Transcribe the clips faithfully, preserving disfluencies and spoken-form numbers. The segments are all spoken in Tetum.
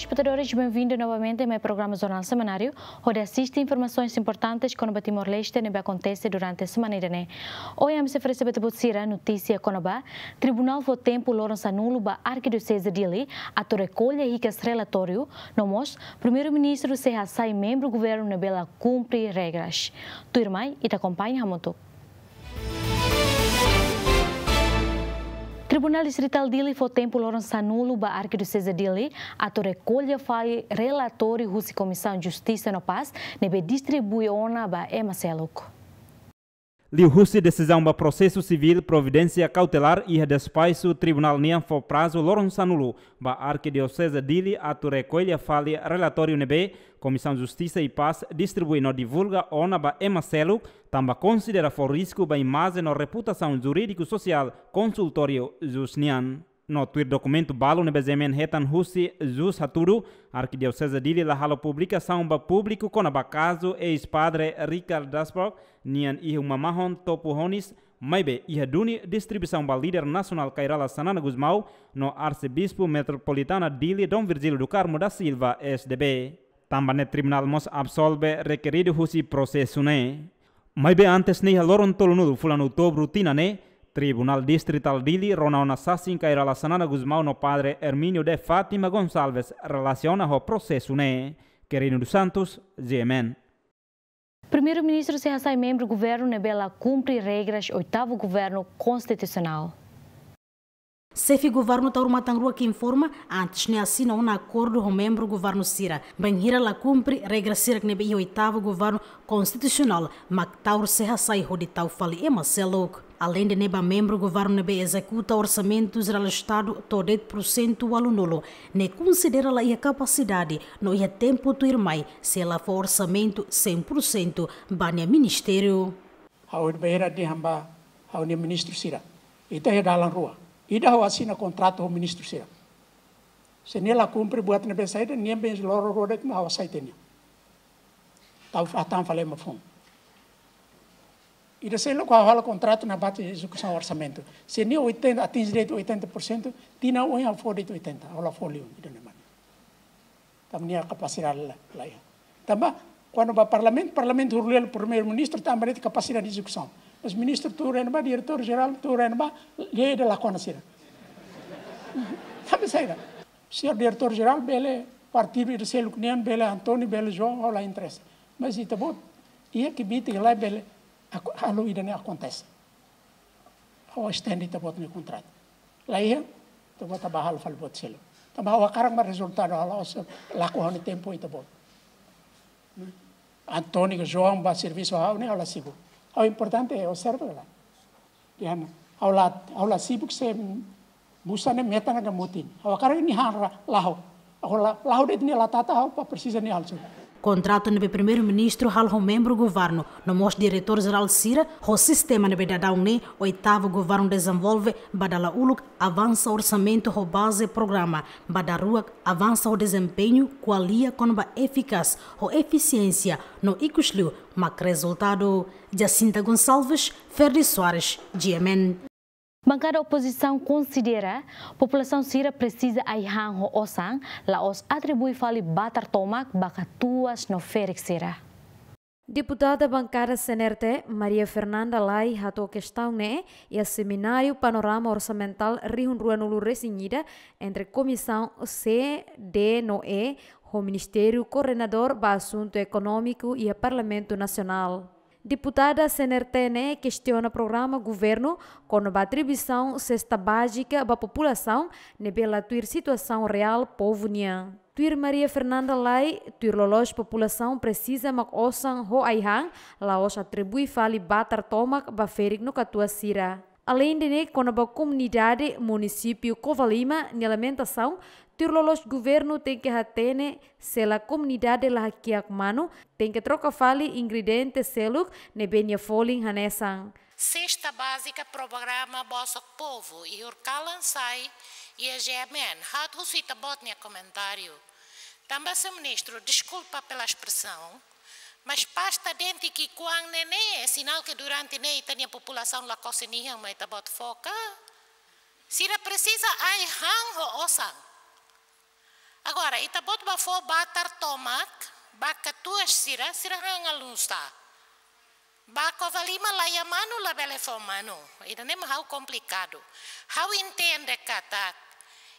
Espetadores, benvindu novamente mai programa Jornál Semanáriu, hodi asiste informasaun importante kona-ba Timor-Leste ne'ebé akontese durante semana ida-ne'e. Ohin ami sei oferese ba ita-boot sira notísia kona-ba Tribunál fó tempu loron sanulu ba Arkidioseze Dili atu rekolla hikas relatóriu, no mós Primeiru-Ministru sei hasai membru governu ne'ebé la kumpre regras. Tuirmai, ita akompaña hamutuk. Tribunál Distritál Dili fó tempu loron sanulu ba Arkidioseze Dili atu rekolla fali relatóriu husi Komisaun Justisa no Pás ne'ebé distribui ona ba ema seluk. Liuhusi desizaun ba prosesu sivíl providénsia kautelár iha despaxu tribunál nian fó prazu loron sanulu ba Arkidioseze Dili atu rekolla fali relatóriu ne'ebé Komisaun Justisa i Pás distribui no divulga ona ba ema seluk, tanba konsidera fó risku ba imajen no reputasaun jurídiku sosiál konsultóriu jús nian. No tuir dokumentu balu ne'ebé G M N hetan husi jús hatudu, Arkidioseze Dili la halo publikasaun ba públiku kona-ba kazu eis-padre Richard Dassberg nian iha uma mahon Topo Honis, maibé iha duni distribuisaun ba líder nasionál Kay Rala Xanana Gusmão no Arsebispu Metropolitana Dili Dom Virgílio do Carmo da Silva, S D B. Tanba ne'e tribunál mós absolve rekeridu husi prosesu ne'e. Maibé antes ne'e, iha loron tolunulu fulan Outubru tinan ne'e, Tribunál Distritál Dili rona ona sasin Kay Rala Xanana Gusmão no Padre Hermínio de Fátima Gonçalves relasiona ho prosesu ne'e. Quirino dos Santos, G M N. Primeiru-Ministru sei hasai membru governu ne'ebé la kumpre regras oitavu governu konstitusionál. Xefe governu Taur Matan Ruak informa, antes ne'e asina ona akordu ho membru governu sira, bainhira la kumpre regra sira ne'ebé iha oitavu governu konstitusionál, mak Taur sei hasai hodi tau fali ema seluk. Aleinde ne'e, ba membru governu ne'ebé ezekuta Orsamentu Jerál Estadu to'o de'it pursentu ualunulu, ne'e konsidera la iha kapasidade no iha tempu tuirmai sei la fó orsamentu cem por cento ba nia ministériu. Ha'u bainhira dehan ba ha'u-nia ministru sira, ita iha dalan rua. Ida ha'u asina kontratu ho ministru sira. Se nia la kumpre buat ne'ebé saida, nia bens loro rua de'it mak ha'u hasai tiha nia. Tau fa-, tau fali ema foun. Ida seluk ha'u halo kontratu ne'ebé ezekusaun orsamentu. Se nia oitenta, atinje de'it oitenta por cento, tinan oin ha'u fó de'it oitenta, ha'u la fó liu, ida-ne'e mak. Tanba nia kapasidade la, la iha. Tanba, kuandu ba parlamentu, parlamentu huru lia primeiru-ministru, tanba de'it kapasidade ezekusaun. Mas ministru tuur iha ne'ebá, diretór jerál tuur iha ne'ebá, lia ida la kona sira. Tanba saida? Señór diretór jerál bele partidu ida seluk nian, bele António, bele João, ha'u la interesa. Mas ita-boot, iha kbiit ka lae bele, ak-, halo ida-ne'e akontese. Ha'u estende ita-boot nia kontratu. La iha, ita-boot bá halo fali buat seluk. Tanba ha'u hakarak mak rezultadu, ha'u la'ós lakon ha'u-nia tempu ho ita-boot. António ka João bá servisu ha'u ne'e, ha'u la sibuk. Ha'u importante observa la. Dehan, ha'u la, ha'u la sibuk se busa ne'e metan ka mutin. Ha'u hakarak nia han ra-, lahó. Ha'u la, lahó de'it nia la tata ha'u, pa presiza nia halo sira. Kontratu ne'ebé primeiru-ministru halo ho membru governu, no mós diretór jerál sira, ho sistema ne'ebé daudaun ne'e, oitavu governu dezenvolve, ba dala uluk avansa orsamentu ho baze programa, ba daruak avansa ho dezempeñu, ko'alia kona-ba efikás, ho efisiénsia, no ikusliu, mak rezultadu. Jacinta Gonçalves, Ferdi Soares, G M N. Bankada opozisaun konsidera populasaun sira presiza ai-han ho osan, la'ós atribui fali batar tomak ba katuas no ferik sira. Deputada bankada C N R T, Maria Fernanda Lay, hato'o kestaun ne'e iha semináriu Panorama Orsamentál rihun rua-nulu resin ida entre Komisaun C, D no E, ho Ministériu Koordenadór ba Asuntu Ekonómiku iha Parlamentu Nasionál. Deputada C N R T ne'e kestiona programa governu kona-ba atribuisaun sesta bázika ba populasaun ne'ebé la tuir situasaun reál povu nian. Tuir Maria Fernanda Lay, tuir loloos populasaun presiza mak osan ho ai-han, la'ós atribui fali batar tomak ba ferik no katuas sira. Aleinde ne'e, kona-ba komunidade munisípiu Covalima nia lamentasaun, tuir loloos governu tenke hatene, se la komunidade la hakiak manu, tenke troka fali ingrediente seluk ne'ebé nia folin hanesan. Sesta bázika programa Bolsa Povu, iha kalan sai, iha G M N, ha'u husu ita-boot nia komentáriu. Tanba, señór ministru, deskulpa pela espresaun, mas pasta dente ki'ikoan ne'e ne'e, sinál ke durante ne'e ita-nia populasaun la kose nia an, mai ita-boot foka. Sira presiza ai-han ho osan. Agora, ita-boot bá fó batar tomak ba katuas sira, sira han alun sa. Ba Covalima la iha manu, labele fó manu. Ida-ne'e mak ha'u komplikadu. Ha'u entende katak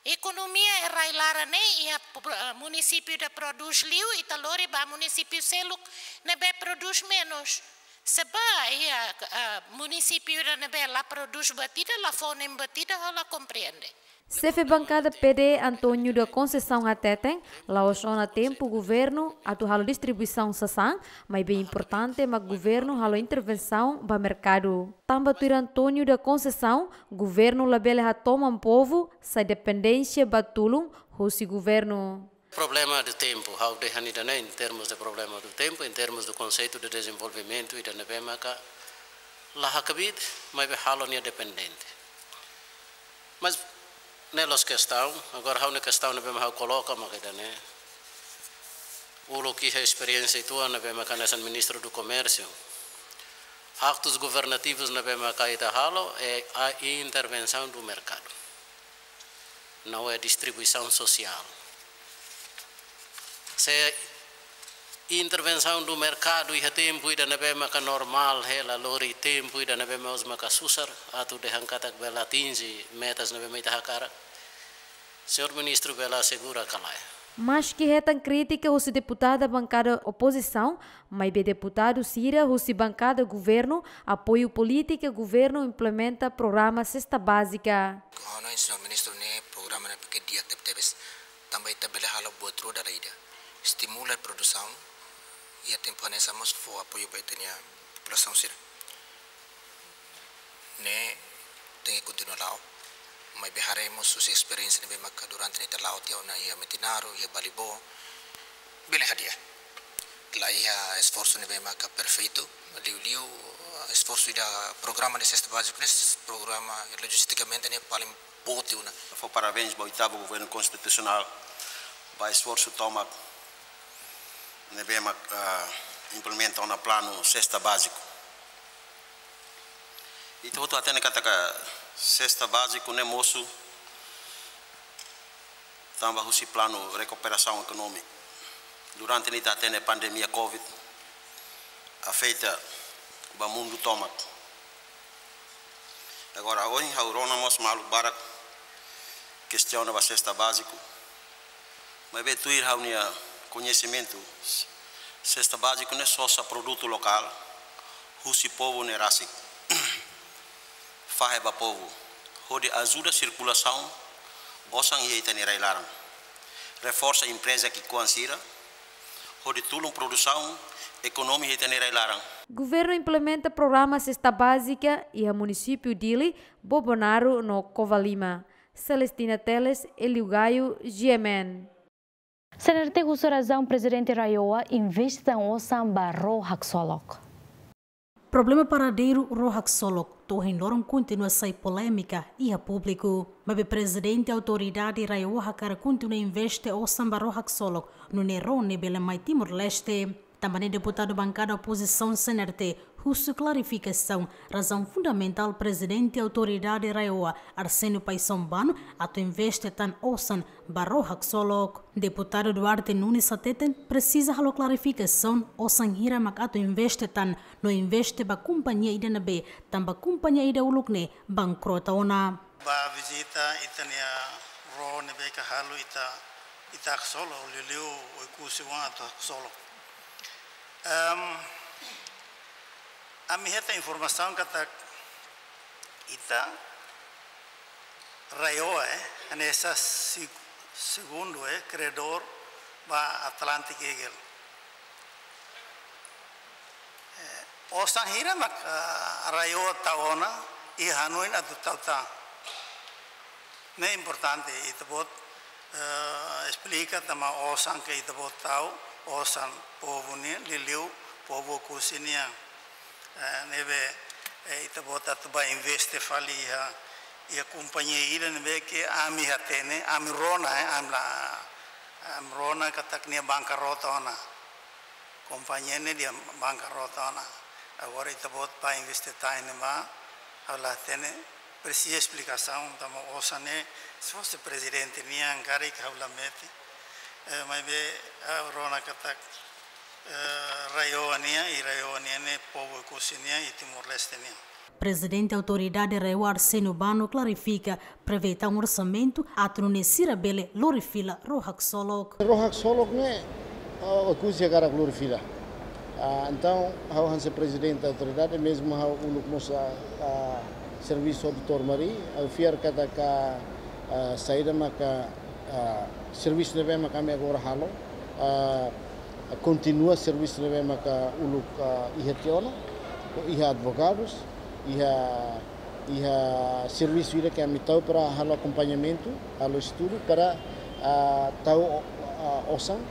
ekonomia iha rai-laran ne'e iha pro-, eh, munisípiu ida prodús liu, ita lori ba munisípiu seluk ne'ebé prodús menus. Se ba iha, eh, munisípiu ida ne'ebé la prodús buat ida, la fó nein buat ida, ha'u la komprende. Xefe bankada P D, António da Conceição hateten, la'ós ona tempu governu atu halo distribuisaun sasán, maibé importante mak governu halo intervensaun ba merkadu. Tanba tuir António da Conceição, governu labele hatoman povu sai dependénsia ba tulun husi governu. Problema de tempu, ha'u dehan ida-ne'e em termos de problema do tempo, em termos do conceito de desenvolvimento, ida ne'ebé maka la hakbiit, maibé halo nia dependente. Mas ne'e la'ós kestaun, agora ha'u-nia kestaun ne'ebé mak ha'u koloka maka ida-ne'e. Uluk iha esperiénsia uitoan ne'ebé maka hanesan Ministro do Comércio. Aktus governativus ne'ebé maka ita halo, é a intervenção do mercado. Não é distribuição social. Se intervensaun do merkadu iha tempu ida ne'ebé maka normál, hela lori tempu ida ne'ebé mós maka susar, atu dehan katak bele atinje metas ne'ebé mak ita hakarak. Señór Ministru bele asegura ka lae? Maski hetan krítika husi deputada bankada opozisaun, maibé deputadu sira husi bankada governu apoiu polítika governu implementa programa Sesta Bázika. Ha'u hanoin, señór Ministru, ne'e programa ne'ebé ke di'ak tebetebes. Tanba ita bele halo buat rua dala ida. Estimula produsaun, iha tempu hanesan mós fó apoiu ba ita-nia populasaun sira. Ne'e tenke kontinua la'o. Maibé haree mós husi esperiénsia ne'ebé maka durante ne'e ita la'o tiha ona iha Metinaro, iha Balibó. Bele hadi'a. La iha esforsu ne'ebé maka perfeitu, liuliu esforsu ida programa de sesta bázika ne'e, programa logistikamente ne'e paling boot ona. Fó parabéns ba oitavu governu konstitusionál, ba esforsu tomak ne'ebé mak, ah, implementa ona planu sesta bázika. Ita hotu hatene katak sesta bázika ne'e mosu tanba husi planu rekuperasaun ekonómika. Durante ne'e ita hatene pandemia covid afeta ba mundu tomak. Agora, ohin ha'u rona mós maluk barak kestiona ba sesta bázika. Maibé tuir ha'u-nia koñesimentu, sesta bázika ne'e sosa produtu lokál husi povu ne'e rasik. Fahe ba povu, hodi ajuda sirkulasaun osan iha ita-nia rai-laran. Reforsa empreza ki'ikoan sira, hodi tulun produsaun ekonomia iha ita-nia rai-laran. Governu implementa programa sesta bázika iha munisípiu Dili, Bobonaro no Covalima. Celestina Teles, Elio Gaio, G M N. CNRT husu razaun Prezidente RAEOA investe tan osan ba ró haksolok. Problema paradeiru ró haksolok to'o ohin loron kontinua sai polémika iha públiku. Maibé Prezidente Autoridade RAEOA hakarak kontinua investe osan ba ró haksolok, nune'e ró ne'e bele mai Timor-Leste. Tanba ne'e deputadu bankada opozisaun CNRT husu klarifikasaun razaun fundamentál Prezidente Autoridade RAEOA, Arsénio Paixão Bano, atu investe tan osan ba ró haksolok. Deputadu Duarte Nunes hateten presiza halo klarifikasaun osan hira mak atu investe tan no investe ba kompañia ida ne'ebé, tanba kompañia ida uluk ne'e bankrota ona. Ba vizita ita-nia ró ne'ebé ke halo iha, iha haksolok, liuliu Oekusi oan atu haksolok. Em, ami hetan informasaun katak ita RAEOA, eh, hanesan seg-, segundu, eh, kredór ba Atlantic Eagle. Eh, osan hira mak, ah, RAEOA tau ona, i hanoin atu tau tan. Ne'e importante, ita-boot, eh, esplika tanba osan ke ita-boot tau, osan povu nian, liuliu povu Oekusi nian. Eh, ne'ebé, eh, ita-boot atu ba investe fali iha, iha kompañia ida ne'ebé ke ami hatene, ami rona, eh, ami la, ami rona katak nia bankrota ona. Kompañia ne'e nia bankrota ona. Agora ita-boot ba investe tan iha ne'ebá, ha'u la hatene, presiza esplikasaun, tanba osan ne'e, se fosse prezidente nian karik ha'u la mete. Eh, maibé, ah, rona katak, eh, RAEOA nian, i RAEOA nian ne'e povu Oekusi nian, i Timor-Leste nian. Prezidente Autoridade RAEOA Arsénio Bano klarifika, prevee tan orsamentu atu nune'e sira bele lori fila ró haksolok. Ró haksolok ne'e, ah, Oekusi hakarak lori fila. Ah, entaun, ha'u hanesan prezidente autoridade, mezmu ha'u uluk mós, ah, ah, servisu ho doutór Mari, ha'u fiar katak, ah, saida maka, ah, servisu ne'ebé maka ami agora halo, ah, kontinua servisu ne'ebé maka uluk, ah, iha tiha ona, iha advogadus, iha, iha servisu ida ke ami tau para halo akompañamentu, halo estudu para, ah, tau, ah, osan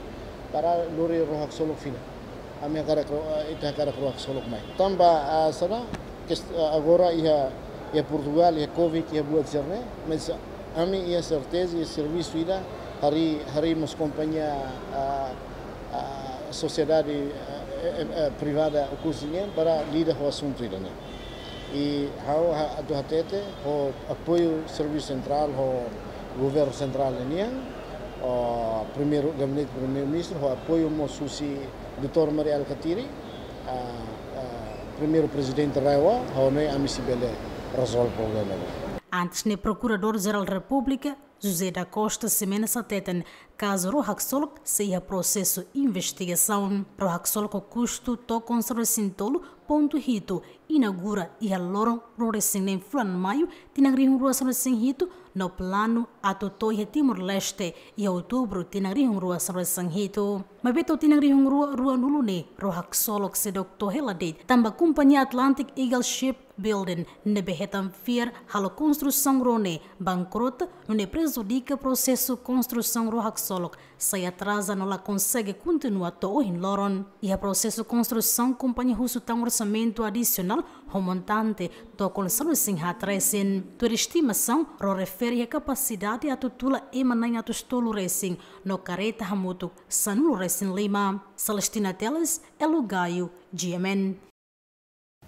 para lori ró haksolok fila. Ami hakarak ró, ah, ita hakarak ró haksolok mai. Tanba, ah, sala, kes-, ah, agora iha, iha Portugal, iha covid, iha buat sira-ne'e, mas ami iha serteza, iha servisu ida, harii, harii mós kompañia, ah, ah, sosiedade, ah, eh, eh, eh, privada Oekusi nian para lida ho asuntu ida-ne'e. I ha'u ha-, atu hatete ho apoiu servisu sentrál, ho governu sentrál nian, ho primeiru, gabinete primeiru-ministru, ho apoiu mós husi doutór Mari Alkatiri, ah, ah, primeiru prezidente RAEOA, ha'u hanoin ami sei bele rezolve problema ne'e. Antes ne'e, Prokuradór-Jerál Repúblika, José da Costa Ximenes hateten, kazu ró haksolok sei iha prosesu investigasaun. Ró haksolok ho kustu tokon sanulu-resin-tolu pontu hitu inaugura iha loron ruanulu-resin-neen fulan Maiu, tinan rihun rua sanulu-resin-hitu, no planu atu to'o iha Timor-Leste iha Outubru, tinan rihun rua sanulu-resin-hitu. Maibé to'o tinan rihun rua ruanulu ne'e, ró haksolok seidauk to'o hela de'it, tanba kompañia Atlantic Eagle Shipbuilding ne'ebé hetan fiar halo konstrusaun ró ne'e bankrota, nune'e prejudika prosesu konstrusaun ró haksolok sai atraza no la konsege kontinua to'o ohin loron. Iha prosesu konstrusaun, kompañia husu tan orsamentu adisionál ho montante tokon sanulu-resin-haat resin. Tuir estimasaun, ró refere iha kapasidade atu tula ema na'in atus tolu resin, no karreta hamutuk sanulu-resin-lima. Celestina Teles, Elo Gayo, G M N.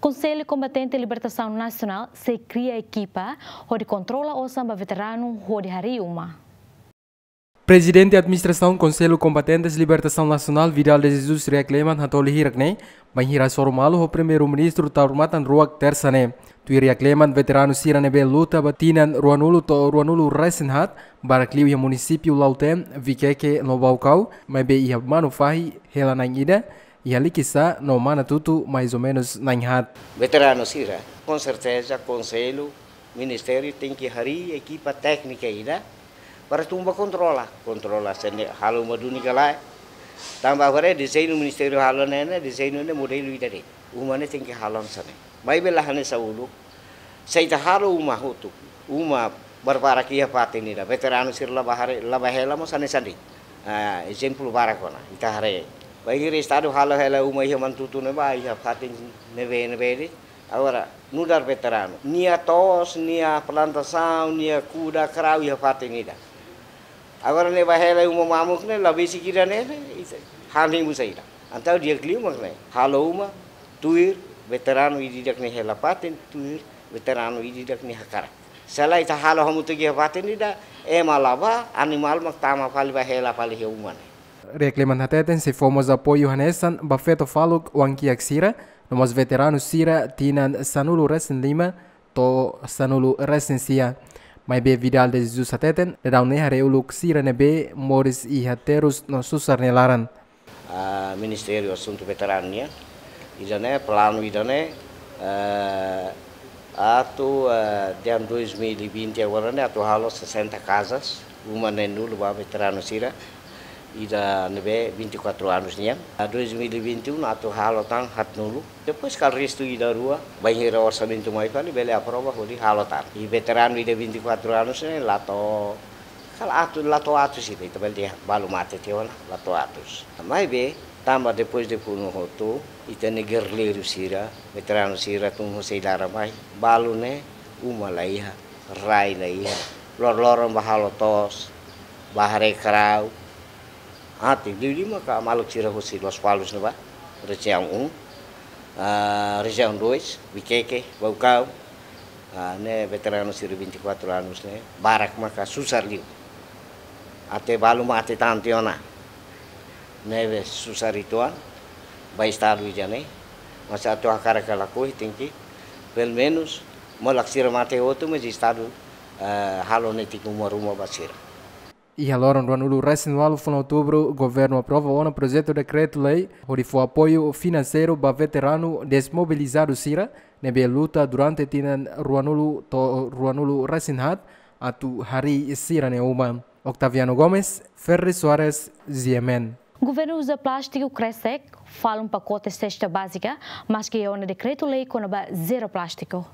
Konsellu Kombatente Libertasaun Nasionál sei kria ekipa hodi kontrola osan ba veteranu hodi harii uma. Prezidente Administrasaun Konsellu Kombatentes Libertasaun Nasionál, Vidal de Jesus, Riak Leman, hatoli hirak-ne'e bainhira hasoru malu ho Primeiru-Ministru Taur Matan Ruak, Tersa ne'e. Tuir Riak Leman, veteranu sira ne'ebé luta ba tinan ruanulu to'o ruanulu-resin-haat, barak liu iha munisípiu Lautém, Viqueque no Baucau, maibé iha Manufahi hela na'in ida, iha Liquiçá no Manatuto mais ou menos na'in haat. Veteranu sira, com certeza, Konsellu, Ministériu tenke harii ekipa téknika ida para tun ba kontrola, kontrola se ne'e halo uma duni ka lae. Tanba agora dezeñu Ministériu halo ne'e, ne'e dezeñu ne'e modelu ida de'it. Uma ne'e tenke halo hanesan ne'e. Maibé la hanesan uluk, se ita halo uma hotu, uma barbarak iha fatin ida, veteranu sira la bá haree, la bá hela mós hanesan de'it. Ah, ezemplu barak ona, ita haree. Bainhira Estadu halo hela uma iha Manatuto ne'ebá, iha fatin ne'ebé, ne'ebé de'it. Agora, nu'udar veteranu, nia to'os, nia plantasaun, nia kuda, krau iha fatin ida. Agora ne'e bá hela uma mamuk ne'e, la besik ida ne'e, ne'e, ita, hal ne'e buat saida. Entaun di'ak liu mak ne'e, halo uma tuir veteranu ida-idak nia hela-fatin, tuir veteranu ida-idak nia hakarak. Se lae ita halo hamutuk iha fatin ida, ema la bá, animál mak tama fali bá hela fali iha uma ne'e. Riak Leman hateten sei fó mós apoiu hanesan ba feto faluk oan-kiak sira, no mós veteranu sira tinan sanulu-resin-lima to'o sanulu-resin-sia. Maibé Vidal de Jesus hateten, daudaun ne'e haree uluk sira ne'ebé moris iha terus no susar nia laran. Ah, Ministériu Asuntu Veteranu nian, ida-ne'e, planu ida-ne'e, eh, atu, eh, de ano dois mil e vinte agora ne'e atu halo sessenta casas, uma neenulu ba veteranu sira, ida ne'ebé vinte e quatro anos nian. Ah, dois mil e vinte e um atu halo tan haatnulu. Depois kala restu ida rua, bainhira orsamentu mai fali, bele aprova hodi halo tan. I veteranu ida vinte e quatro anos ne'e la to'o, kala atus, la to'o atus ida, ita bele dehan balu mate tiha ona, la to'o atus. Maibé, tanba depois de funu hotu, ita-nia gerrilleiru sira, veteranu sira tun husi laran mai, balu ne'e, uma la iha, rai la iha, loroloron bá halo to'os, bá haree krau, até liuliu maka maluk sira husi Lospalos ne'ebá, rejiaun um, ah, rejiaun dois, Viqueque, Baucau, ah, ne'e veteranu sira vinte e quatro anos ne'e, barak maka susar liu. Até balu mate tan tiha ona. Ne'ebé susar uitoan ba estadu ida-ne'e, mas atu hakarak ka lakohi tenke, pelumenus, molok sira mate hotu, mas estadu, eh, halo netik uma-ruma ba sira. Iha loron ruanulu-resin-ualu fulan Outubru, governu aprova ona projetu dekretu-lei hodi fó apoiu finanseiru ba veteranu desmobilizadu sira ne'ebé luta durante tinan ruanulu to'o ruanulu-resin-haat atu harii sira-nia uma. Octaviano Gomes, Ferri Soares, G M N. Governu uza plástiku kresek, falun pakote sesta bázika, maski iha ona dekretu-lei kona-ba zero plástiku.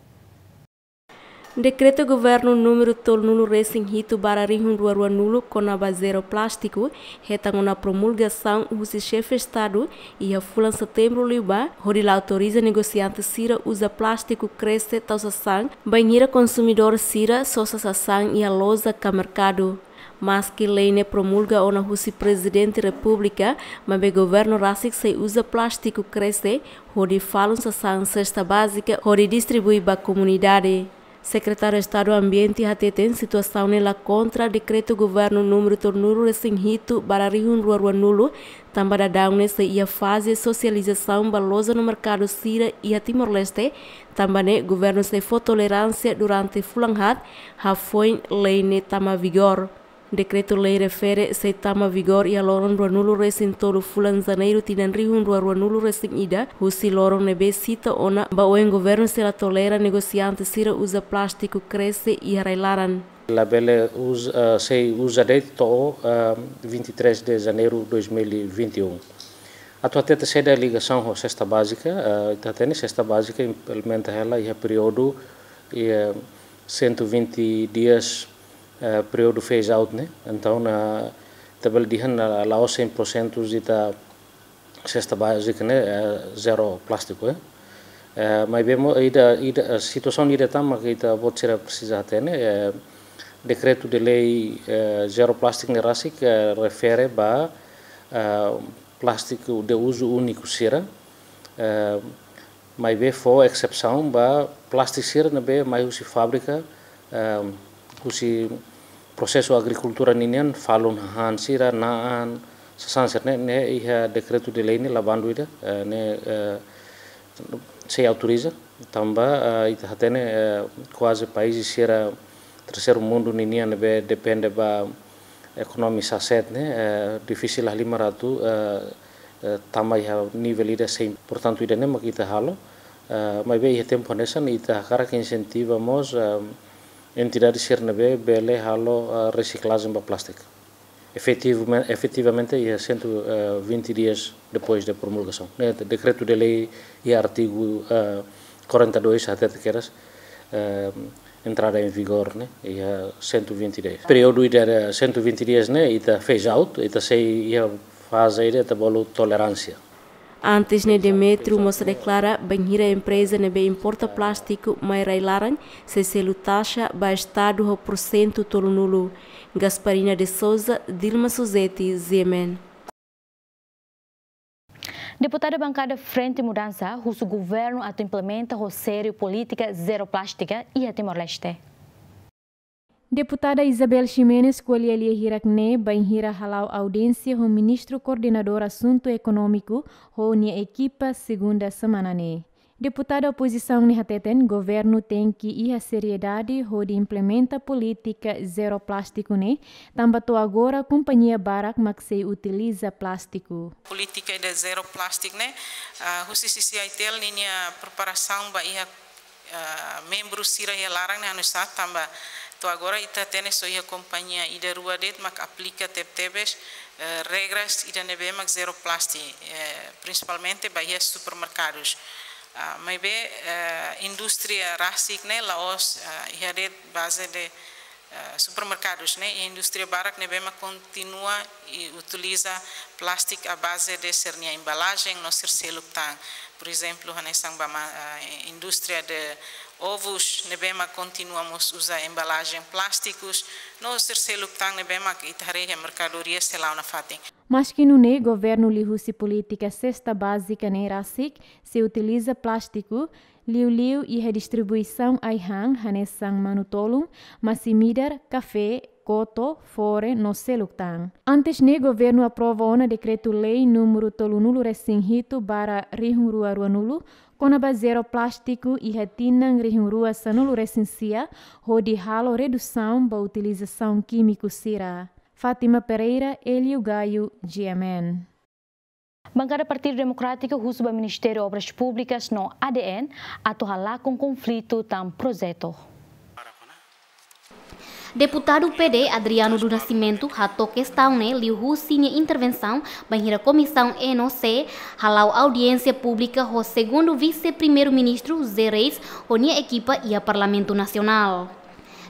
Dekretu Governu númeru tolunulu-resin-hitu barra rihun rua ruanulu kona-ba zero plástiku hetan ona promulgasaun husi Xefe Estadu iha fulan Setembru liubá, hodi la autoriza negosiante sira uza plástiku kresek tau sasán, bainhira konsumidór sira sosa sasán iha loja ka merkadu. Maski lei ne'e promulga ona husi Prezidente Repúblika, maibé governu rasik sei uza plástiku kresek hodi falun sasán sesta bázika hodi distribui ba komunidade. Sekretáriu Estadu Ambiente hateten situasaun ne'e la kontra dekretu governu númeru tolunulu-resin-hitu barra rihun rua ruanulu, tanba daudaun ne'e sei iha faze sosializasaun ba loja no merkadu sira iha Timor-Leste, tanba ne'e governu sei fó toleránsia durante fulan haat hafoin lei ne'e tama vigór. Dekretu-lei refere sei tama vigór iha loron ruanulu-resin-tolu fulan Janeiru tinan rihun rua ruanulu-resin-ida, husi loron ne'ebé sita ona ba oin governu sei la tolera negosiante sira uza plástiku kresek iha rai-laran. Labele uza, eh, sei uza de'it to'o, eh, vinte e três de Janeiro dois mil e vinte e um. Atu hatete saida ligasaun ho sesta bázika, eh, ita hatene sesta bázika implementa hela iha períodu, iha cento e vinte dias, eh, períodu phase out ne'e. Entaun, na, ita bele dehan, eh, la'ós cem por cento ita sesta bázika ne'e, eh, zero plástiku, eh. Eh, maibé mós ida, ida, eh, situasaun ida tan mak ita-boot sira presiza hatene, eh, dekretu-lei, eh, zero plástiku ne'e rasik, eh, refere ba, eh, plástiku de uzu úniku sira, eh, maibé fó exesaun ba plástiku sira ne'ebé mai husi fábrika, eh, husi prosesu agrikultura ninian, falun hahán sira, na'an, sasán sira-ne'e, ne'e iha dekretu-lei ne'e la bandu ida, eh, ne'e, eh, sei autoriza, tanba, eh, ita hatene, eh, kuaze país sira terseiru mundu ninian ne'ebé depende ba ekonomia sasán ne'e, eh, difisil halimar atu, eh, eh, tama iha nivel ida sei. Portantu, ida-ne'e mak ita halo, eh, maibé iha tempu hanesan ita hakarak insentiva mós, eh, entidade sira ne'ebé bele halo, eh, resiklajen ba plástiku. Efetivame-, efetivamente, iha cento e vinte dias depois da promulgação, ne'e, dekretu-lei iha artigu, eh, quarenta e dois hatete kedas, eh, entrada em vigor, ne'e, iha cento e vinte dias. Períodu ida cento e vinte dias ne'e, ita phase out, ita sei iha faze ida ita bolu toleránsia. Antes ne'e, Demetrio mós deklara bainhira empreza ne'ebé importa plástiku mai rai-laran sei selu taxa ba Estadu ho porsentu tolunulu. Gasparina de Souza, Dilma Suzeti, G M N. Deputada bankada Frente Mudansa husu governu atu implementa ho sériu polítika zero plástika iha Timor-Leste. Deputada Isabel Ximenes ko'alia lia hirak ne'e bainhira hala'o audiénsia ho Ministru Koordenadór Asuntu Ekonómiku ho nia ekipa segunda semana ne'e. Deputada opozisaun ne'e hateten governu tenke iha seriedade hodi implementa polítika zero plástiku ne'e, tanba to'o agora kompañia barak mak sei utiliza plástiku. Polítika ida zero plástiku ne'e, ah, husi sisi AITL ninia preparasaun ba iha, ah, membru sira iha laran ne'e hanoin sá, tanba to'o agora ita hatene só iha kompañia ida rua de'it mak aplika tebetebes, eh, regras ida ne'ebé mak zero plástiku, eh, prinsipalmente ba iha supermerkadus. Ah, maibé, eh, indústria rasik ne'e la'ós, ah, iha de'it baze de, eh, supermerkadus ne'e, iha indústria barak ne'ebé mak kontinua i utiliza plástiku à base de sira-nia embalajen no sira seluk tan. Por ezemplu, hanesan ba ma-, eh, indústria de ovus ne'ebé mak kontinua mós uza embalajen plástikus, no sira seluk tan ne'ebé mak ita haree iha merkadoria sei la'o nafatin. Maski nune'e, governu liuhusi polítika sesta bázika ne'e rasik sei utiliza plástiku, liuliu iha distribuisaun ai-han hanesan manu-tolun, masin-midar, kafé, boto, fore no seluk tan. Antes ne'e governu aprova ona dekretu-lei númeru tolunulu resin hitu barra rihun rua ruanulu, kona-ba zero plástiku iha tinan rihun rua sanulu resin sia, hodi halo redusaun ba utilizasaun kímiku sira. Fátima Pereira, Hélio Gaio, G M N. Bankada Partidu Demokrátiku husu ba Ministériu Obras Públikas no A D N atu halakon konflitu tan projetu. Deputadu P D Adriano do Nascimento hato'o kestaun ne'e liuhusi nia intervensaun bainhira Komisaun E no C hala'o audiénsia públika ho Segundu Vise-Primeiru-Ministru José Reis ho nia ekipa iha Parlamentu Nasionál.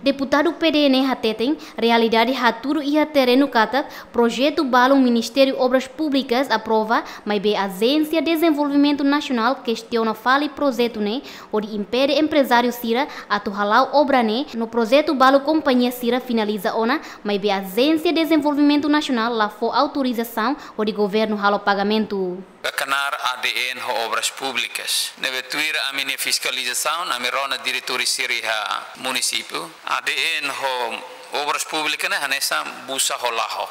Deputadu P D ne'e hateten, realidade hatudu iha terrenu katak projetu balun Ministériu Obras Públikas aprova, maibé Ajénsia Dezenvolvimentu Nasionál kestiona fali projetu ne'e, hodi impede emprezáriu sira atu hala'o obra ne'e, no projetu balu kompañia sira finaliza ona, maibé Ajénsia Dezenvolvimentu Nasionál la fó autorizasaun hodi governu halo pagamentu. Ba knaar A D N ho Obras Públikas. Ne'ebé tuir ami-nia fiskalizasaun, ami rona diretór sira iha munisípiu. A D N ho Obras Públikas ne'e hanesan busa ho laho.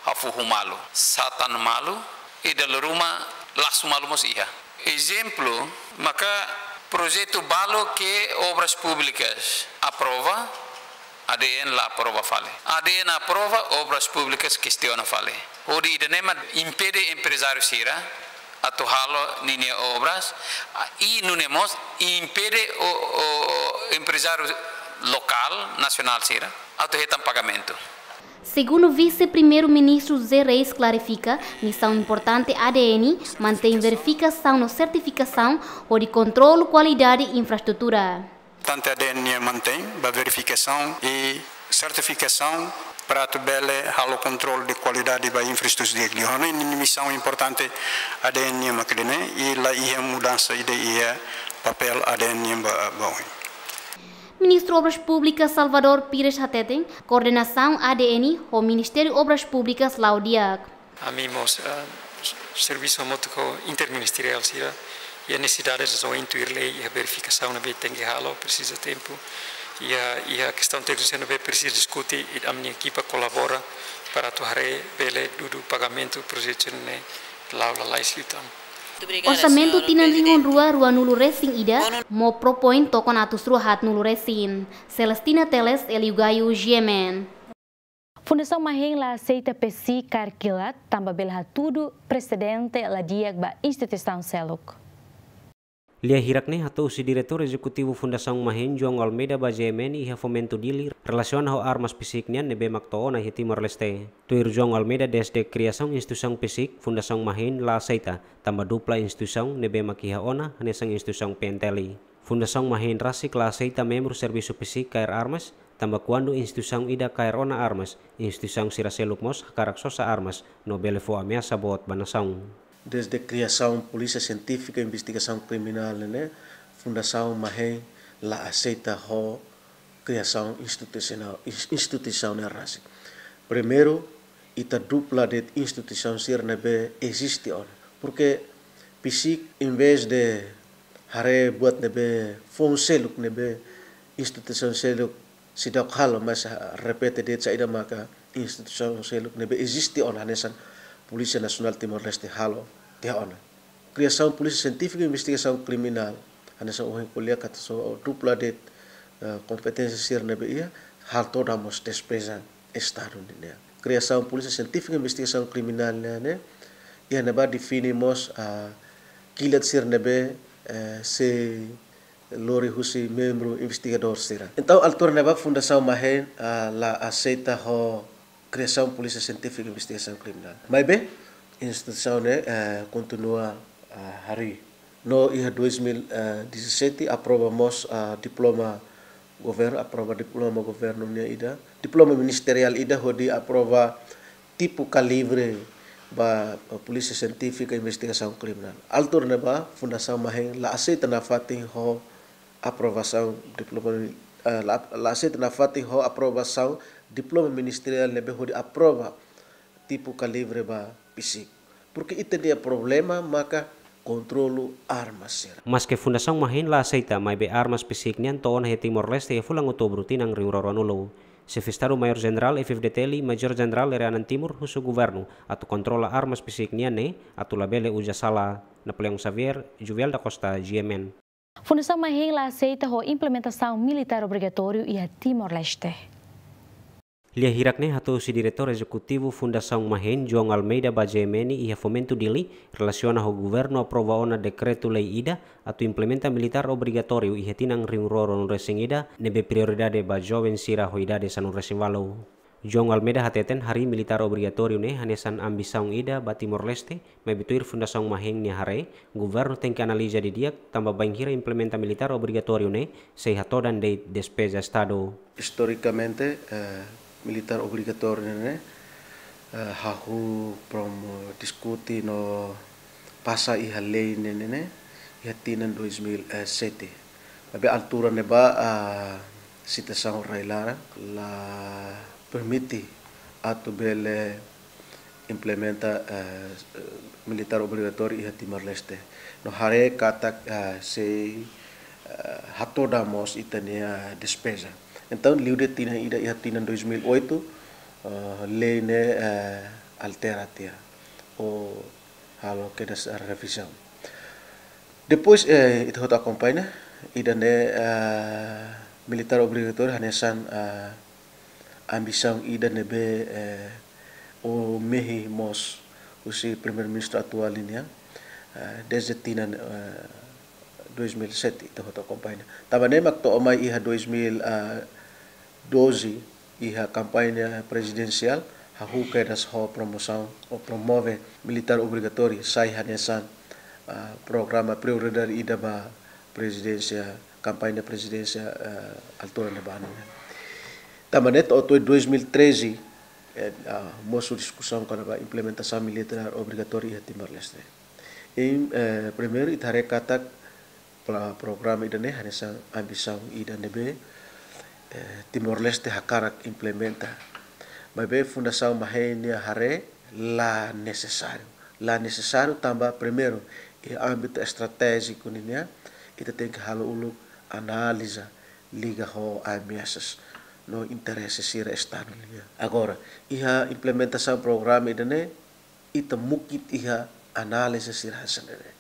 Hafuhu malu, satan malu, i dala ruma lasu malu mós iha. Ezemplu, maka projetu balu ke Obras Públikas aprova, A D N la aprova fali. A D N aprova, Obras Públikas kestiona fali. Hodi ida-ne'e mak impede emprezáriu sira atu halo ninia obras, i nune'e mós impede o, o emprezáriu lokál, nasionál sira atu hetan pagamentu. Segundu Vise-Primeiru-Ministru José Reis klarifika, misaun importante A D N mantein verifikasaun no sertifikasaun hodi kontrolu kualidade infraestrutura. Importante A D N nian mantein ba verifikasaun i sertifikasaun para atu bele halo kontrolu de kualidade ba infraestrutura di'ak liu. Ha'u hanoin ninia misaun importante A D N nian mak ida-ne'e i la iha mudansa ida iha papél A D N nian ba, ba oin. Ministru Obras Públikas Salvador Pires hateten, koordenasaun A D N ho Ministériu Obras Públikas la'o di'ak. Ami mós, ah, servisu hamutuk ho interministeriál sira, iha nesesidade sira ohin tuir lei, iha verifikasaun ne'ebé tenke halo, presiza tempu, iha, iha kestaun tékniku sira ne'ebé presiza diskute, i ami-nia ekipa kolabora para atu haree bele dudu pagamentu projetu ne'e la'o lalais liután. Orsamentu tinan rihun rua ruanulu resin ida, mós propoin tokon atus rua haatnulu resin. Celestina Teles, Hélio Gaio, G M N. Fundasaun Mahen la aseita PCIC kaer kilat, tanba bele hatudu presedente la di'ak ba instituisaun seluk. Lia hirak ne'e hato'o husi Diretór Ezekutivu Fundasaun Mahen, João Almeida, ba G M N iha Fomento Dili, relasiona ho armas PCIC nian ne'ebé mak to'o ona iha Timor-Leste. Tuir João Almeida, dezde kriasaun instituisaun PCIC, Fundasaun Mahen la aseita, tanba dupla instituisaun ne'ebé mak iha ona, hanesan instituisaun P N T L. Fundasaun Mahen rasik la aseita membru servisu PCIC kaer armas, tanba kuandu instituisaun ida kaer ona armas, instituisaun sira seluk mós hakarak sosa armas, no bele fó ameasa boot ba nasaun. Dezde kriasaun Polísia Sientífika Investigasaun Kriminál ne'e, Fundasaun Mahen la aseita ho kriasaun institusionál, ins-, instituisaun ne'e rasik. Primeiru, ita dupla de'it instituisaun sira ne'ebé eziste ona. Porke PCIC, envezde haree buat ne'ebé foun seluk ne'ebé instituisaun seluk seidauk halo, mas, ah, repete de'it saida maka instituisaun seluk ne'ebé eziste ona hanesan Polísia Nasionál Timor-Leste halo tiha ona. Kriasaun Polísia Sientífika Investigasaun Kriminál, hanesan ohin ko'alia katak só dupla de'it, eh, kompeténsia sira ne'ebé iha, halo todan mós despeza Estadu nian. Kriasaun Polísia Sientífika Investigasaun Kriminál nian ne'e, iha ne'ebá define mós, ah, kilat sira ne'ebé, eh, sei lori husi membru investigadór sira. Entaun, altura ne'ebá Fundasaun Mahen, ah, la aseita ho kriasaun Polísia Sientífika Investigasaun Kriminál. Maibé, instituisaun ne'e, eh, kontinua, eh, harii. No iha dois mil e dezassete aprova mós, eh, diploma governu, aprova diploma governu nian ida, diploma ministeriál ida hodi aprova tipu kalibru ba, eh, Polísia Sientífika Investigasaun Kriminál. Altura ne'ebá Fundasaun Mahen la aseita nafatin ho aprovasaun diploma, eh, la, la aseita nafatin ho aprovasaun diploma ministeriál ne'ebé hodi aprova tipu kalibru ba PCIC. Porke ita-nia problema maka kontrolu armas sira. Maske Fundasaun Mahen la aseita, maibé armas PCIC nian to'o ona iha Timor-Leste iha fulan Outubru tinan rihun rua ruanulu. Xefe Estadu Maiór Jenerál F-FDTL, Major Jenerál Ere Anan Timur, husu governu atu kontrola armas besik nian ne'e atu labele uza sala. Napoleão Xavier, Juvial da Costa, G M N. Fundasaun Mahen la aseita ho implementasaun militár obrigatóriu iha Timor-Leste. Lia hirak ne'e hato'o husi Diretór Ezekutivu Fundasaun Mahen, João Almeida, ba G M N iha Fomento Dili, relasiona ho governu aprova ona dekretu-lei ida atu implementa militár obrigatóriu iha tinan rihun rua ruanulu-resin-ida, ne'ebé prioridade ba joven sira ho idade sanulu-resin-ualu. João Almeida hateten, harii militár obrigatóriu ne'e hanesan ambisaun ida ba Timor-Leste, maibé tuir Fundasaun Mahen nia haree, governu tenke analiza didi'ak tanba bainhira implementa militár obrigatóriu ne'e sei hatodan de'it despeza Estadu. Istorikamente, eh, militár obrigatóriu ne'e, eh, hahú promo diskute no pasa iha lei ne'e, ne'e, ne'e, iha tinan dois mil e sete. Maibé altura ne'ebá, ah, situasaun rai-laran la permite atu bele implementa, eh, militár obrigatóriu iha Timor-Leste. No haree katak, eh, sei, eh, hatodan mós ita-nia despeza. Entaun, liu de'it tinan ida iha tinan dois mil e oito, eh, lei ne'e, eh, altera tiha. Ou halo kedas revizaun. Depois, eh, ita hotu akompaña, ida-ne'e, eh, militár obrigatóriu hanesan, eh, ambisaun ida ne'ebé, eh, mehi mós husi Primeiru-Ministru atuál nian, eh, dezde tinan, eh, dois mil e sete, ita hotu akompaña. Tanba ne'e mak to'o mai iha dois mil e doze, iha kampaña prezidensiál, hahú kedas ho promosaun ou promove militár obrigatóriu sai hanesan, ah, programa prioridade ida ba prezidénsia, kampaña prezidénsia, ah, altura ne'ebá nian. Tanba ne'e to'o dois mil e treze, eh, ah, mosu diskusaun kona-ba implementasaun militár obrigatóriu iha Timor-Leste. I, eh, primeiru, ita haree katak pla-, programa ida-ne'e hanesan ambisaun ida ne'ebé, eh, Timor-Leste hakarak implementa. Maibé Fundasaun Mahen nia haree la nesesáriu. La nesesáriu tanba primeiru, iha ámbitu estratéjiku ninian, ita tenke halo uluk analiza liga ho ameasas no interese sira Estadu nian. Agora, iha implementasaun programa ida-ne'e, ita mukit iha analiza sira hanesan ne'e.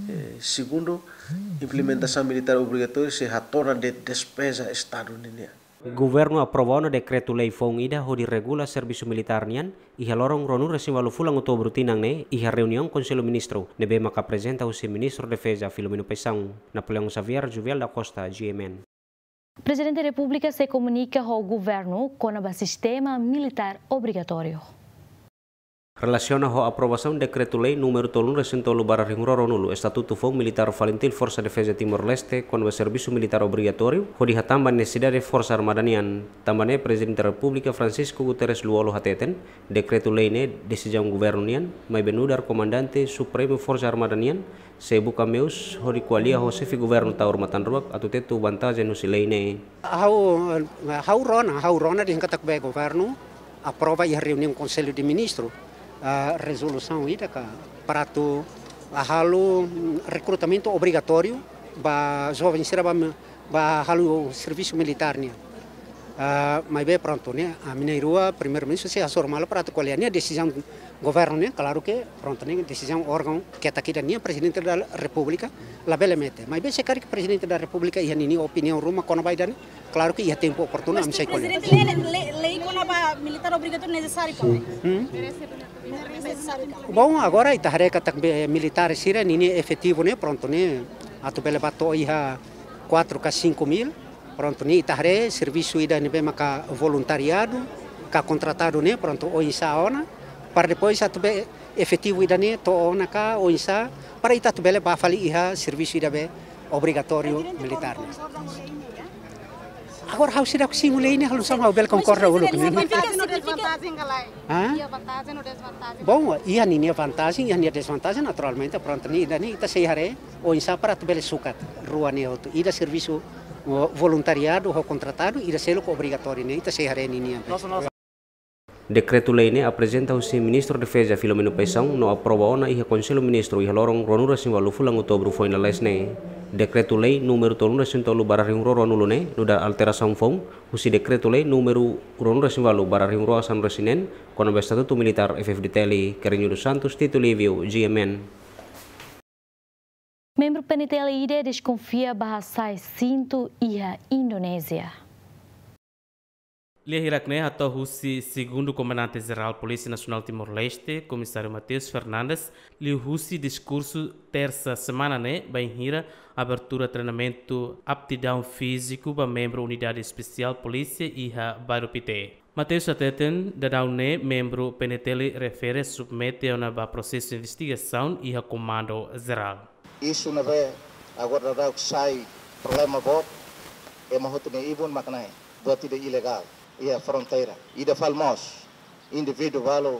Eh, segundu, implementasaun militár obrigatóriu sei hatodan de'it despeza Estadu ninian. Governu aprova ona dekretu-lei foun ida hodi regula servisu militár nian, iha loron ruanulu-resin-ualu fulan Outubru tinan ne'e, iha reuniaun Konsellu Ministru, ne'ebé maka aprezenta husi Ministru Defeza Filomeno Paixão. Napoleão Xavier, Juvial da Costa, G M N. Prezidente Repúblika sei komunika ho governu kona-ba sistema militár obrigatóriu. Relasiona ho aprovasaun dekretu-lei númeru tolunulu-resin-tolu barra rihun rua ruanulu, Estatutu Foun Militár Falintil Forsa Defeza Timor-Leste, kona-ba servisu militár obrigatóriu, hodi hatán ba nesesidade Forsa Armada nian. Tanba ne'e Prezidente Repúblika Francisco Guterres Lú-Olo hateten, dekretu-lei ne'e desizaun governu nian, maibé nu'udar Komandante Supremu Forsa Armada nian, sei buka meius hodi ko'alia ho Xefe Governu Taur Matan Ruak atu tetu vantajen husi lei ne'e. Ha'u, ha'u rona, ha'u rona dehan katak be governu aprova iha reuniaun Konsellu de Ministru, ah, rezolusaun ida ka para atu halo, mm, rekrutamentu obrigatóriu ba joven sira ba, ba halo servisu militár nian. Ah, maibé prontu ne'e, ami na'in-rua, Primeiru-Ministru sei hasoru malu para atu ko'alia ne'e desizaun governu nian, klaru ke prontu ne'e desizaun órgaun ketak ida nian, Prezidente da Repúblika labele mete. Maibé se karik Prezidente da Repúblika iha ninia opiniaun ruma kona-ba ida-ne'e, klaru ke iha tempu oportunu ami sei ko'alia. Prezidente, lei, lei, lei kona-ba militár obrigatóriu nesesáriu ka? Hmm? Nesesáriu ka? Bom, agora ita haree katak be militár sira ninia efetivu ne'e prontu ne'e atu bele ba to'o iha quatro ka cinco mil. Prontu ne'e ita haree servisu ida ne'ebé maka voluntariadu ka kontratadu ne'e prontu oinsá ona, para depois atu be efetivu ida-ne'e to'o ona ka oinsá, para ita atu bele ba fali iha servisu ida be obrigatóriu militár ne'e. Agora ha'u seidauk simu lei ne'e, halo sama ha'u bele konkorda uluk ne'e. Mas significa, significa... Hã? Iha vantajen ou dezvantajen? Bom, iha ninia vantajen, iha ninia dezvantajen, naturalmente, prontu ne'e, ida-ne'e ita sei haree oinsá para atu bele sukat rua ne'e hotu. Ida servisu, o, voluntariadu ho kontratadu, ida seluk obrigatóriu ne'e, ita sei haree ninian. Dekretu-lei ne'e aprezenta husi Ministru Defeza Filomeno Paixão no aprova ona iha Konsellu Ministru iha loron ruanulu-resin-ualu fulan Outubru foin lalais ne'e. Dekretu-Lei númeru tolunulu-resin-tolu barra rihun rua ruanulu ne'e nu'udar alterasaun foun husi Dekretu-Lei númeru ruanulu-resin-ualu barra rihun rua sanulu-resin-neen, kona-ba Estatutu Militár F F D T L. Carrinho dos Santos, Tito Livio, G M N. Membru P N T L ida deskonfia ba hasai sintu iha Indonézia. Lia hirak-ne'e hato'o husi Segundu Komandante Jerál Polísia Nasionál Timor-Leste, Komisáriu Mateus Fernandes, liuhusi diskursu tersa semana ne'e, bainhira abertura treinamentu aptidaun fíziku ba membru Unidade Espesiál Polísia iha Bairru Pité. Mateus hateten, daudaun ne'e membru P N T L refere submete ona ba prosesu investigasaun iha Komandu Jerál. Isu ne'ebé agora daudaun sai problema boot, ema hotu nia ibun mak ne'e, buat ida ilegál iha fronteira. Ida fali mós, indivíduu balu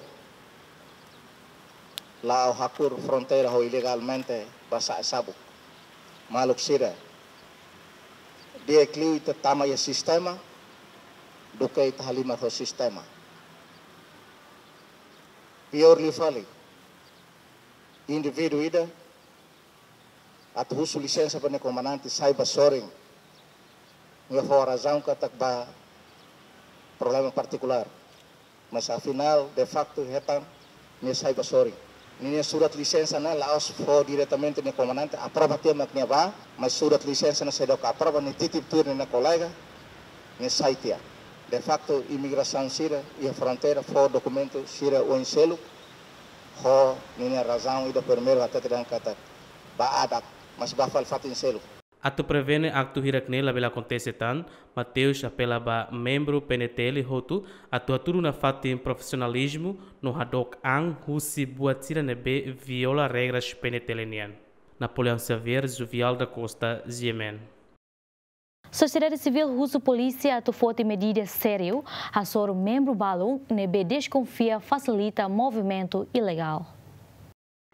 la'o hakur fronteira ho ilegalmente ba sa'e sabuk. Maluk sira, di'ak liu ita tama iha sistema, duké ita halimar ho sistema. Piór liu fali, indivíduu ida atu husu lisensa ba nia komandante sai ba sorin. Nia fó razaun katak ba problema partikulár. Mas afinál, de facto, hetan nia sai ba sorin. Ninia surat lisensa ne'e la'ós fó diretamente nia komandante, aprova tiha mak nia bá, mas surat lisensa ne'e seidauk aprova, nia titip tuir nia kolega, nia sai tiha. De facto, imigrasaun sira iha fronteira fó dokumentu sira oin seluk, ho ninia razaun ida primeiru hatete dehan katak ba adat, mas ba fali fatin seluk. Atu prevene aktu hirak-ne'e labele akontese tan, Mateus apela ba membru P N T L hotu atu hatudu nafatin profisionalizmu no hadook an husi buat sira ne'ebé viola regras P N T L nian. Napoleão Xavier, Juvial da Costa, G M N. Sosiedade sivíl husu polísia atu foti medida sériu hasoru membru balu ne'ebé deskonfia fasilita movimentu ilegál.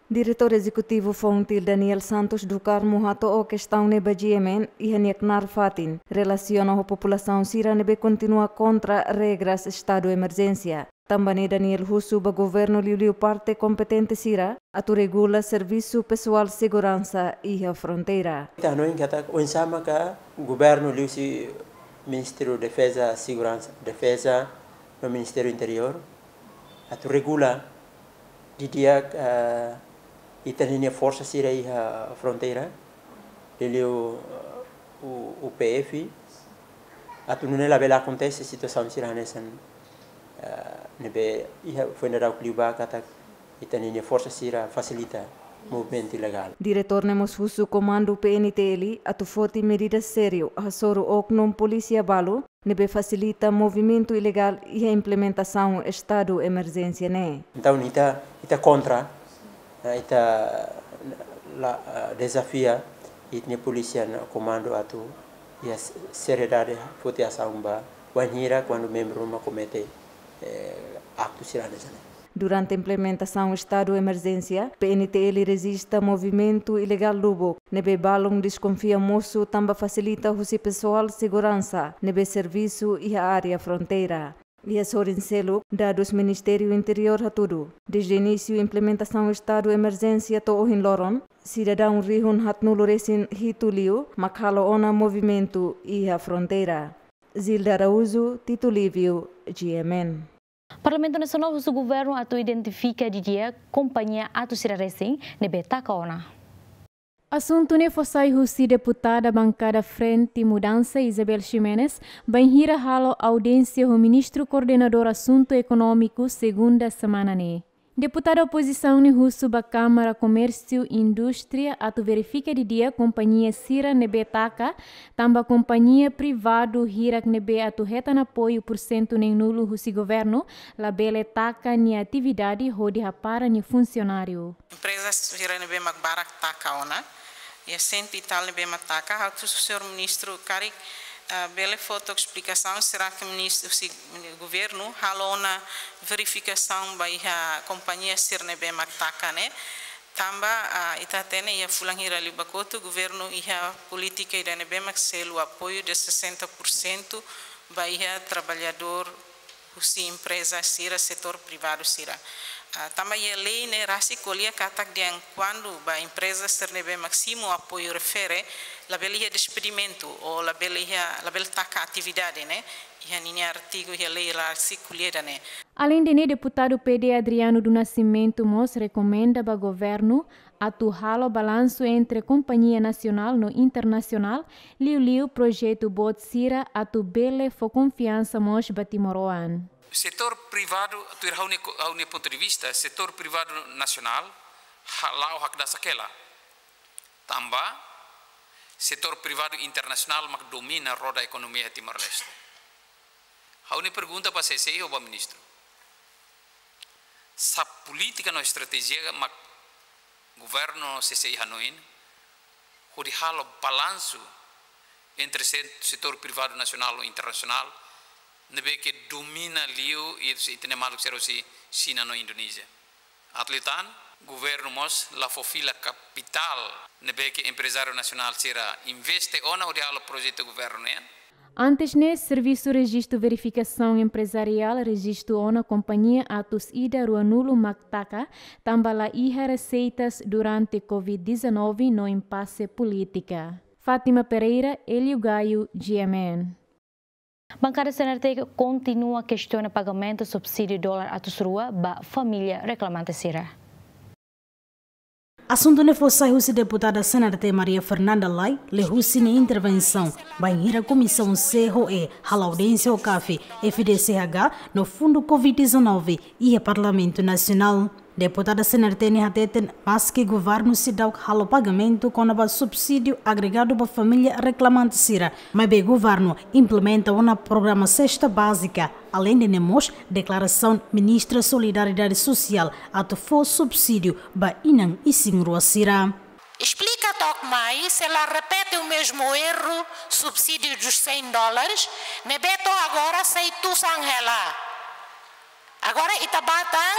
Diretór Ezekutivu Fontil, Daniel Santos do Carmo, hato'o kestaun ne'e ba G M N iha nia knaar fatin, relasiona ho populasaun sira ne'ebé kontinua kontra regras estadu emerjénsia. Tanba ne'e Daniel husu ba governu liuliu parte kompetente sira atu regula servisu pesoál seguransa iha fronteira. Ita hanoin katak oinsá maka governu liuhusi Ministériu Defeza, Seguransa, Defeza no Ministériu Interiór atu regula didi'ak, eh, ita-nia forsa sira iha fronteira, liuliu, eh, U-, U P F, atu nune'e labele akontese situasaun sira hanesan, eh, ne'ebé iha foin daudauk liubá katak ita-nia forsa sira fasilita movimentu ilegál. Diretór ne'e mós husu komandu P N T L atu foti medida sériu hasoru oknum polísia balu ne'ebé fasilita movimentu ilegál iha implementasaun estadu emerjénsia ne'e. Entaun, ita, ita kontra, eh, ita la, eh, dezafia ita-nia polísia no komandu atu iha seriedade foti asaun ba wainhira kuandu membru ruma komete, eh, aktu sira hanesan ne'e. Durante implementasaun estadu emerjénsia, P N T L rejista movimentu ilegál lubuk, ne'ebé balun deskonfia mosu tanba fasilita husi pesoál seguransa ne'ebé servisu iha área fronteira. Iha sorin seluk, dadus Ministériu Interiór hatudu, dezde inísiu implementasaun estadu emerjénsia to'o ohin loron, sidadaun rihun haatnulu-resin-hitu liu mak halo ona movimentu iha fronteira. Zilda Araújo, Tito Livio, G M N. Parlamentu Nasionál husu governu atu identifika didi'ak kompañia atu sira resin ne'ebé taka ona. Asuntu ne'e fó sai husi deputada bankada Frente Mudança, Isabel Ximenes, bainhira halo audiénsia ho Ministru Koordenadór Asuntu Ekonómiku, segunda semana ne'e. Deputada opozisaun ne'e husu ba Kámara Komérsiu Indústria atu verifika didi'ak kompañia sira ne'ebé taka, tanba kompañia privadu hirak ne'ebé atu hetan apoiu pursentu neenulu husi governu, labele taka nia atividade hodi hapara nia funsionáriu. Empreza sira ne'ebé mak barak taka ona, iha sentu e tal ne'ebé mak taka, ha'u husu señór ministru karik, ah, bele fó took esplikasaun, será que ministru, se governu halo ona verifikasaun ba iha kompañia sira ne'ebé mak taka ne'e, tanba, ah, ita hatene iha fulan hira liubá kotuk, governu iha polítika ida ne'ebé mak selu apoiu de sessenta por cento ba iha traballadór husi empreza sira, setór privadu sira. Ah, tanba iha lei ne'e rasik ko'alia katak dehan kuandu ba empreza sira ne'ebé mak simu apoiu refere, labele iha despedimentu ou labele iha, labele taka atividade ne'e, iha ninia artigu iha lei rasik ko'alia ida-ne'e. Aleinde ne'e, deputadu P D Adriano do Nascimento mós rekomenda ba governu atu halo balansu entre kompañia nasionál no internasionál, liuliu projetu boot sira atu bele fó konfiansa mós ba timoroan. Setór privadu, tuir ha'u-nia ko-, ha'u-nia pontu de vista, setór privadu nasionál, ha-, la'o hakdasak hela. Tanba setór privadu internasionál mak domina roda ekonomia Timor-Leste. Ha'u-nia pergunta ba C C I ou ba ministru. Sá polítika no estratéjia mak governu C C I hanoin, hodi halo balansu entre se-, setór privadu nasionál ou internasionál, ne'ebé ke domina liu i se ita-nia maluk sira husi Xina no Indonézia. Atu liután, governu mós la fó fila kapitál ne'ebé ke emprezáriu nasionál sira investe ona hodi halo projetu governu nian. Antes ne'e, Servisu Rejistu Verifikasaun Emprezariál rejistu ona kompañia atus ida ruanulu mak taka, tanba la iha reseitas durante covid dezanove no impase polítika. Fátima Pereira, Hélio Gaio, G M N. Bankada C N R T kontinua kestiona pagamentu subsídiu dolar atus rua ba família reklamante sira. Asuntu ne'e fó sai husi deputada C N R T Maria Fernanda Lay, liuhusi nia intervensaun bainhira Komisaun C ho E hala'o audiénsia ho CAF, F D C H no Fundu covid dezanove iha Parlamentu Nasionál. Deputada C N R T ne'e hateten, maske governu seidauk halo pagamentu kona-ba subsídiu agregadu ba família reklamante sira, maibé governu implementa ona programa Sesta Bázika. Aleinde ne'e mós, deklarasaun Ministra Solidariedade Sosiál atu fó subsídiu ba inan isin-rua sira. Esplika took mai, se la repete o mesmo erro, subsídio dos cem dólares, ne'ebé to'o agora sei tusan hela. Agora ita bá tan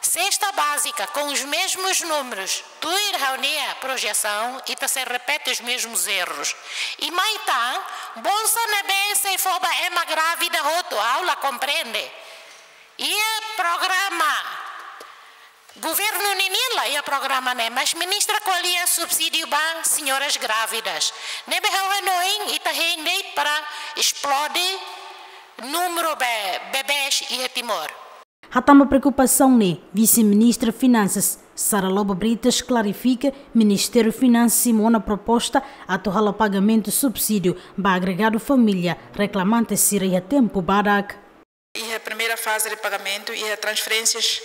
Sesta Bázika com os mesmos números. Tuir ha'u-nia projesaun, ita sei repete os mesmos erros. I mai tan, bolsa ne'ebé sei fó ba ema grávida hotu, ha'u la komprende. Iha programa governu ninian la iha programa ne'e, mas ministra ko'alia subsídiu ba senhoras grávidas. Ne'ebé ha'u hanoin ita hein de'it para esplode númeru be-, bebés iha Timor. Hatán ba preokupasaun ne'e, Vise-Ministra Finansas, Sara Lobo Brites, klarifika Ministériu Finansas simu ona proposta atu halo pagamentu subsídiu ba agregadu família reklamante sira iha tempu badak. Iha primeira fase de pagamento, iha transferências,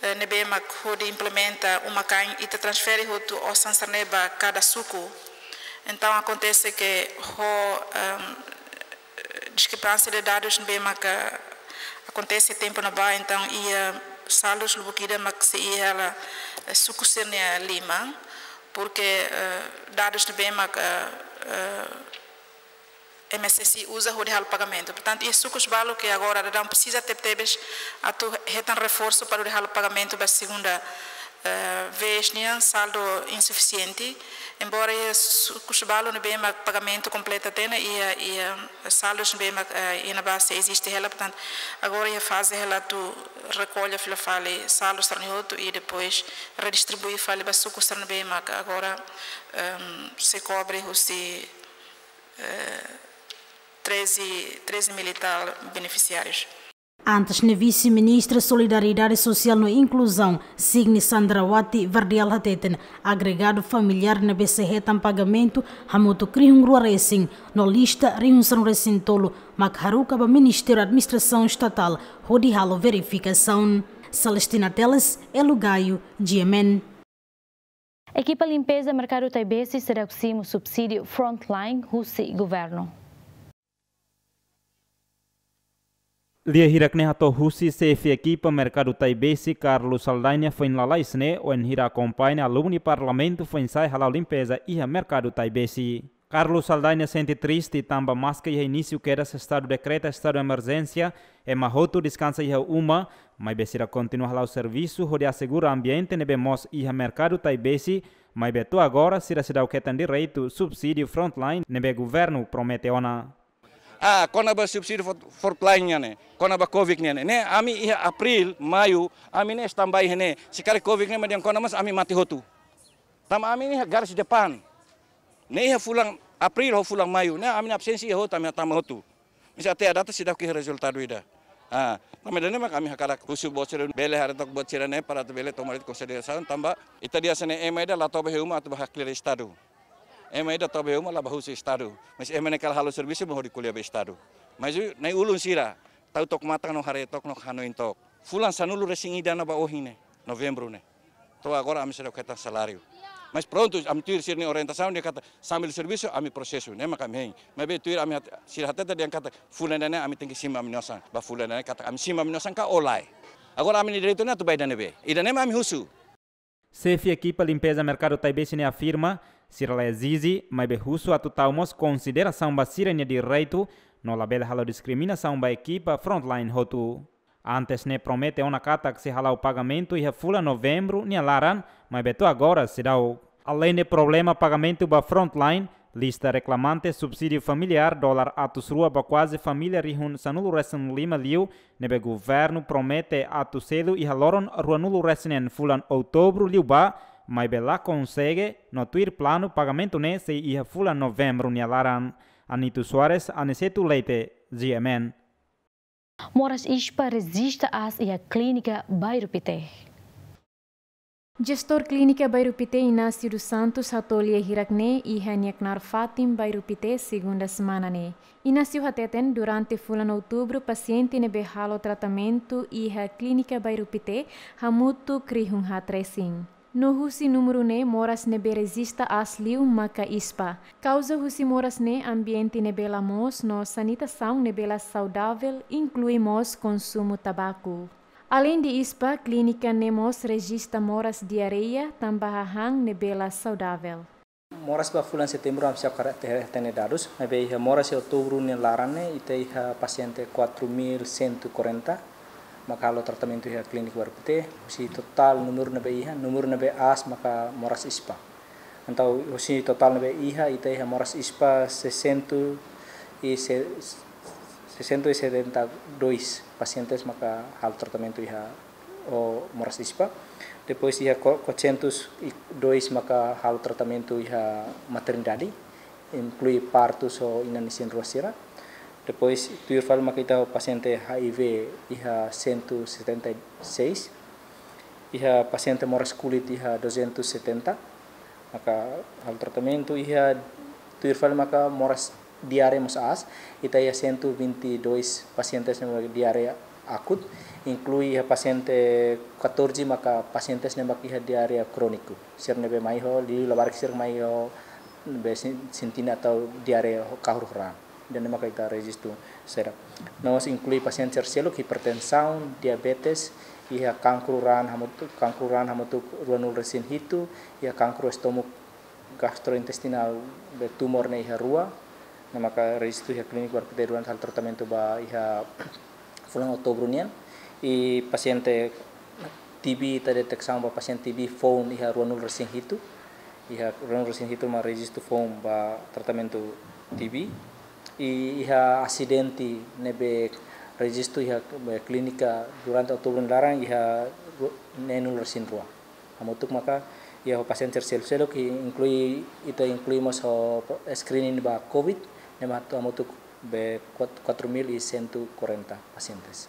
eh, ne'ebé mak hodi implementa uma kain, ita transfere hotu osan sira-ne'e ba kada suku. Entaun, akontese ke ho, ehm, diskrepánsia de dadus ne'ebé maka akontese tempu ne'ebá, entaun iha saldus lubuk ida mak sei iha hela, eh, suku sira-nia liman, porque, eh, dadus ne'ebé maka, eh, M S S I uza hodi halo pagamentu. Portantu, iha sukus balu ke agora daudaun presiza tebetebes atu hetan reforsu para hodi halo pagamentu ba segunda, eh, vez nian, saldo insufisiente. Embora iha sukus balu ne'ebé mak pagamentu kompleta tiha ona, iha, iha saldus ne'ebé mak, eh, iha ne'ebá sei eziste hela. Portantu, agora iha faze hela atu rekolla fila fali saldus sira-ne'e hotu i depois redistribui fali ba sukus sira ne'ebé mak agora, ehm, sei kobre husi, eh, treze, treze mil e tal benefisiárius. Antes ne'e, Vise-Ministra Solidariedade Sosiál no Inkluzaun, Signi Sandrawati Verdial, hateten, agregadu familiár ne'ebé sei hetan pagamentu hamutuk rihun rua resin, no lista rihun sanulu resin tolu, mak haruka ba Ministériu Administrasaun Estatál hodi halo verifikasaun. Celestina Teles, Hélio Gaio, G M N. Ekipa limpeza Merkadu Taibesi seidauk simu subsídiu Frontline husi governu. Lia hirak ne'e hato'o husi xefe ekipa Merkadu Taibesi, Carlos Saldanha, foin lalais ne'e, wainhira akompaña alumni Parlamentu foin-sa'e hala'o limpeza iha Merkadu Taibesi. Carlos Saldanha sente triste tanba maske iha inísiu kedas estadu dekreta estadu emerjénsia, ema hotu deskansa iha uma, maibé sira kontinua hala'o servisu hodi asegura ambiente ne'ebé moos iha Merkadu Taibesi, maibé to'o agora sira seidauk hetan direitu subsídiu Frontline ne'ebé governu promete ona. Ah, kona-ba subsídiu fort-, Frontline nian ne'e, kona-ba covid nian ne'e. Ne'e ami iha Abril, Maiu, ami ne'e standby iha ne'e. Se karik covid ne'e mak dehan kona mós ami mate hotu. Tanba ami ne'e iha garis depan. Ne'e iha fulan Abril ho fulan Maiu. Ne'e ami-nia absénsia iha hotu, ami hatama hotu. Maibé até à data seidauk iha rezultadu ida. Ah, tanba ida-ne'e mak ami hakarak husu buat sira bele haree took buat sira-ne'e para atu bele toma de'it konsiderasaun tanba ita dehan hanesan ne'e ema ida la to'o ba iha uma atu ba haklaken Estadu. Ema ida to'o ba iha uma la ba husu Estadu. Maibé ema ne'e kala halo servisu mak hodi ko'alia ba Estadu. Maibé nai ulun sira tau took matan no haree took no hanoin took. Fulan sanulu-resin-ida ona ba ohin ne'e, Novembru ne'e. To'o agora ami seidauk hetan saláriu. Maibé prontu, ami tuir sira-nia orientasaun dehan katak sambil servisu ami prosesu, ne'e mak ami hein. Maibé tuir ami hat-, sira hatete dehan katak fulan ida-ne'e ami tenke simu ami-nia osan. Ba fulan ida-ne'e katak ami simu ami-nia osan ka lae. Agora ami-nia direitu ne'e atu ba ida-ne'ebé? Ida-ne'e mak ami husu. Xefe ekipa limpeza merkadu Taibesi ne'e afirma, sira la ezije, maibé husu atu tau mós konsiderasaun ba sira-nia direitu, no labele halo diskriminasaun ba ekipa Frontline hotu. Antes ne'e promete ona katak sei hala'o pagamentu iha fulan Novembru nia laran, maibé to'o agora seidauk. Aleinde problema pagamentu ba Frontline, lista reklamante subsídiu familiár dolar atus rua ba kuaze família rihun sanulu-resin-lima liu, ne'ebé governu promete atu selu iha loron ruanulu-resin-neen fulan Outubru liubá, maibé la konsege, no tuir planu pagamentu ne'e sei iha fulan Novembru nia laran. Anito Soares, Aniceto Leite, G M N. Moras ISPA rejista aas iha Klínika Bairru Pité. Jestór Klínika Bairru Pité Inácio dos Santos hato'o lia hirak-ne'e iha nia knaar fatin Bairru Pité, segunda semana ne'e. Inácio hateten durante fulan Outubru pasiente ne'ebé halo tratamentu iha Klínika Bairru Pité hamutuk rihun haat resin. No husi númeru ne'e moras ne'ebé rejista aas liu maka ISPA. Kauza husi moras ne'e ambiente ne'ebé la moos no sanitasaun ne'ebé la saudavel, inklui mós konsumu tabaku. Aleinde ISPA, klínika ne'e mós rejista moras diarreia tanba hahán ne'ebé la saudavel. Moras ba fulan Setembru ami seidauk karik te-, hatene dadus, maibé iha moras iha Outubru nia laran ne'e ita iha pasiente quatro mil cento e quarenta maka halo tratamentu iha Klínika Bairru Pité, husi totál númeru ne'ebé iha, númeru ne'ebé aas maka moras ISPA. Entaun husi totál ne'ebé iha, ita iha moras ISPA sessenta e se-, sessenta e setenta e dois pasientes maka halo tratamentu iha ho moras ISPA. Depois iha quatrocentos e dois maka halo tratamentu iha maternidade, inklui partus ho inan-isin rua sira. Depois tuir fali maka ita ho pasiente HIV iha cento e setenta e seis, iha pasiente moras kulit iha duzentos e setenta, maka halo tratamentu iha tuir fali maka moras diarreia mós aas, ita iha cento e vinte e dois pasientes ne'ebé diarreia akut, inklui iha pasiente catorze maka pasientes ne'ebé iha diarreia króniku. Sira ne'ebé mai ho, liu labarik sira mai ho, be sin-, sentindo atau diarreia ho kahur ho raan. Ida-ne'e maka ita rejistu sira. No mós inklui pasiente sira seluk hipertensaun, diabetes, iha kankru raan hamutuk, kankru raan hamutuk ruanulu-resin-hitu, iha kankru estómagu gastrointestinál be tumór ne'e iha rua, ne'e maka rejistu iha Klínika Bairru Pité durante halo tratamentu ba iha fulan Outubru nian. I pasiente TB ita deteksaun ba pasiente TB foun iha ruanulu-resin-hitu, iha ruanulu-resin-hitu mak rejistu foun ba tratamentu TB. I iha asidente ne'ebé rejistu iha be klínika durante Outubru nia laran iha ru-, neenulu-resin-rua. Hamutuk maka iha ho pasiente sira seluk-seluk, i inklui, ita inklui mós ho screening ba covid, ne'e mak hamutuk be quat-, quatro mil e cento e quarenta pacientes.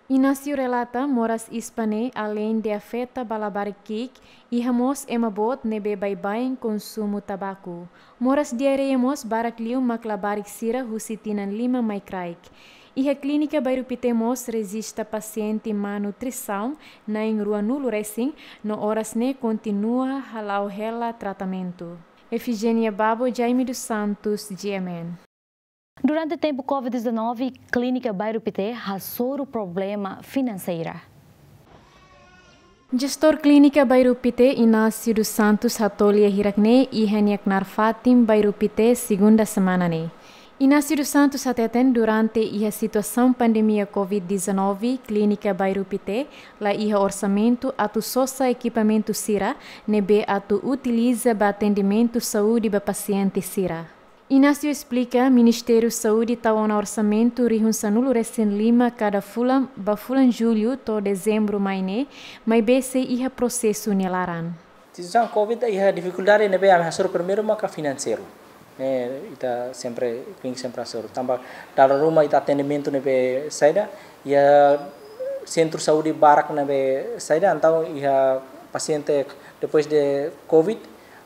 Inácio relata, moras ISPA ne'e aleinde afeta ba labarik ki'ik, iha mós ema boot ne'ebé baibain konsumu tabaku. Moras diarreia mós barak liu mak labarik sira husi tinan lima mai kraik. Iha Klínika Bairru Pité mós rejista pasiente má nutrisaun na'in ruanulu resin, no oras ne'e kontinua hala'o hela tratamentu. Efigénia Babo, Jaime dos Santos, G M N. Durante tempu covid dezanove, Klínika Bairru Pité hasoru problema finanseira. Jestór Klínika Bairru Pité, Inácio dos Santos, hato'o lia hirak-ne'e iha nia knaar fatin Bairru Pité, segunda semana ne'e. Inácio dos Santos hateten durante iha situasaun pandemia covid dezanove, Klínika Bairru Pité la iha orsamentu atu sosa ekipamentu sira ne'ebé atu utiliza ba atendimentu saúde ba pasiente sira. Inácio esplika, Ministériu Saúde tau ona orsamentu rihun sanulu-resin-lima kada fulan ba fulan Jullu to'o Dezembru mai ne'e, maibé sei iha prosesu nia laran. Situasaun covid iha difikuldade ne'ebé ami hasoru primeiru maka finanseiru. Ne'e ita sempre, klínika sempre hasoru. Tanba dala ruma ita atendimentu ne'ebé saida, iha sentru saúde barak ne'ebé saida, entaun iha pasiente depois de covid,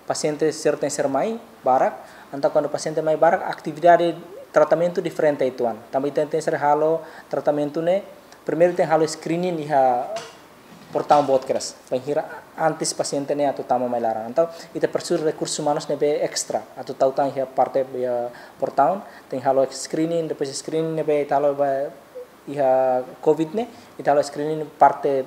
pasiente sira tenke ser mai barak, entaun kuandu pasiente mai barak, atividade tratamentu diferente uitoan. Tanba ita tenke ser halo tratamentu ne'e, primeiru tenke halo screening iha portaun boot kedas, bainhira antes pasiente ne'e atu tama mai laran. Entaun ita presiza rekursus umanus ne'ebé estra, atu tau tan iha parte iha portaun, tenke halo screening, depois screening ne'ebé ita halo ba iha covid ne'e, ita halo screening parte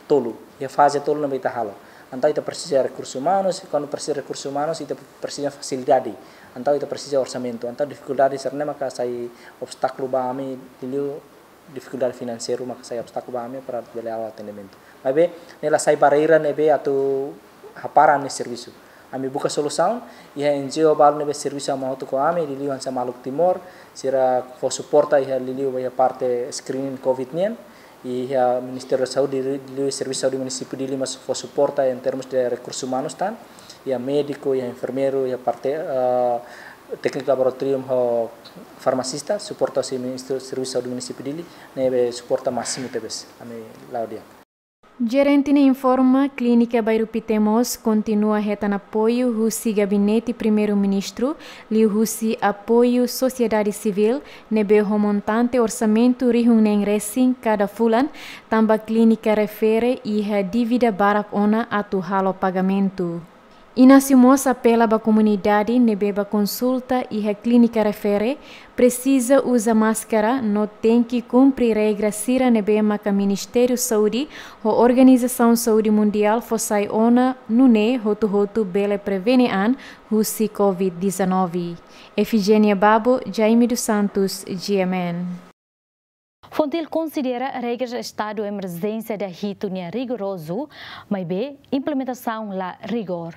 tolu, iha faze tolu ne'ebé ita halo. Entaun ita presiza rekursus umanus, kuandu presiza rekursus umanus, ita presiza fasilidade. Entaun ita presiza orsamentu. Entaun difikuldade sira-ne'e maka sai obstákulu ba ami, liuliu difikuldade finanseiru maka sai obstákulu ba ami para bele halo atendimentu. Maibé, ne'e la sai barreira ne'ebé atu hapara ami-nia servisu. Ami buka solusaun, iha N G O balu ne'ebé servisu hamutuk ho ami, liuliu hanesan Maluk Timor, sira fó suporta iha liuliu iha parte screening covid nian, iha Ministériu Saúde, liuliu Servisu Saúde Munisípiu Dili mós fó suporta em termos de rekursus umanus tan, iha médiku, iha enfermeiru, iha parte, eh, tékniku laboratóriu ho farmasista, suporta husi Ministériu Servisu Saúde Munisípiu Dili, ne'ebé suporta másimu tebes, ami la'o di'ak. Jerente ne'e informa, Klínika Bairru Pité mós kontinua hetan apoiu husi Gabinete Primeiru-Ministru, liuhusi apoiu sosiedade sivíl, ne'ebé ho montante orsamentu rihun neen resin kada fulan, tanba klínika refere iha dívida barak ona atu halo pagamentu. Inácio mós apela ba komunidade ne'ebé bá konsulta iha klínika refere, presiza uza máskara no tenke kumpre regra sira ne'ebé maka Ministériu Saúde ho Organizasaun Saúde Mundiál fó sai ona, nune'e hotu-hotu bele prevene an husi covid dezanove. Efigénia Babo, Jaime dos Santos, G M N. FONGTIL konsidera regras estadu emerjénsia da hitu nian rigorozu, maibé implementasaun la rigor.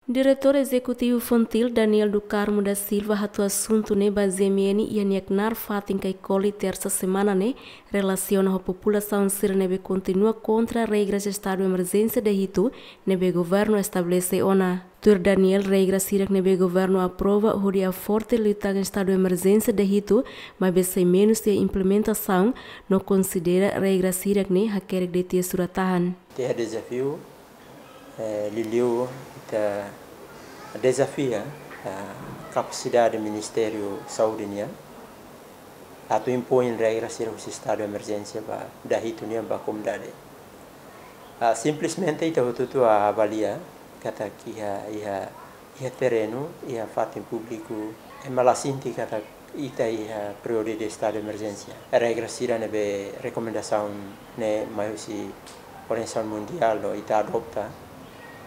Diretór Ezekutivu FONGTIL, Daniel do Carmo da Silva, hato'o asuntu ne'e ba G M N iha nia knaar fatin Caicoli, tersa semana ne'e, relasiona ho populasaun sira ne'ebé kontinua kontra regras estadu emerjénsia da hitu ne'ebé governu estabelese ona. Tuir Daniel, regra sira ne'ebé governu aprova hodi haforte liután estadu emerjénsia da hitu, maibé sai menus iha implementasaun, no konsidera regra sira ne'e hakerek de'it iha surat-tahan. Iha dezafiu, eh, liuliu ita dezafia, eh, kapasidade Ministériu Saúde nian atu impoin regra sira husi estadu emerjénsia ba da hitu nian ba komunidade. Ah, simplesmente ita hotu-hotu avalia katak iha, iha, iha terrenu, iha fatin públiku, ema la sente katak ita iha períodu de estadu emerjénsia. Regra sira ne'ebé rekomendasaun ne'e mai husi Organizasaun Mundiál no ita adopta,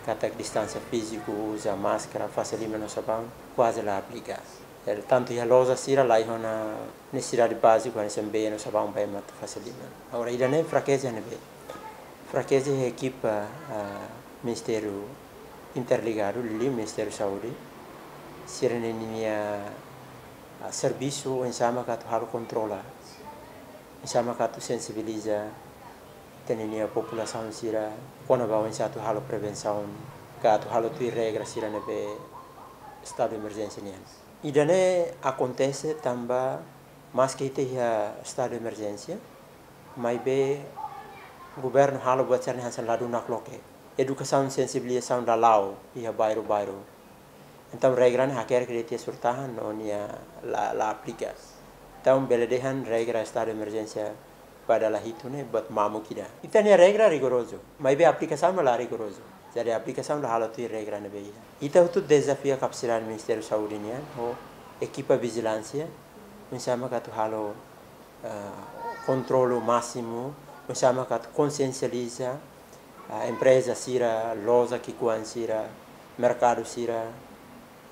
katak distánsia fíziku, uza máskara, fase liman no sabaun, kuaze la aplika. El tantu iha loja sira la iha ona nesesidade báziku, hanesan bee no sabaun ba ema atu fase liman. Agora, ida-ne'e frakeza ne'ebé? Frakeza iha ekipa, ah, Ministériu Interligadu, liuliu Ministériu Saúde, sira-nia, ah, servisu oinsá maka atu halo kontrola, oinsá maka atu sensibiliza ita-nia populasaun sira kona-ba oinsá atu halo prevensaun, ka atu halo tuir regra sira ne'ebé estadu emerjénsia nian. Ida-ne'e akontese tanba maske ita iha estadu emerjénsia, maibé governu halo buat sira-ne'e hanesan ladún nakloke. Edukasaun sensibilizasaun la la'o iha bairru-bairru. Entaun regra ne'e hakerek de'it iha surat-tahan no nia la, la aplika. Entaun bele dehan regra estadu emerjénsia ba dala hitu ne'e buat mamuk ida. Ita-nia regra rigorozu, maibé aplikasaun la rigorozu. Jadi aplikasaun la halo tuir regra ne'ebé iha. Ita hotu dezafia kapasidade Ministériu Saúde nian ho ekipa vijilánsia, oinsá maka atu halo, ah, kontrolu másimu, oinsá maka atu konsiensializa, ah, empreza sira, loja ki'ikoan sira, merkadu sira,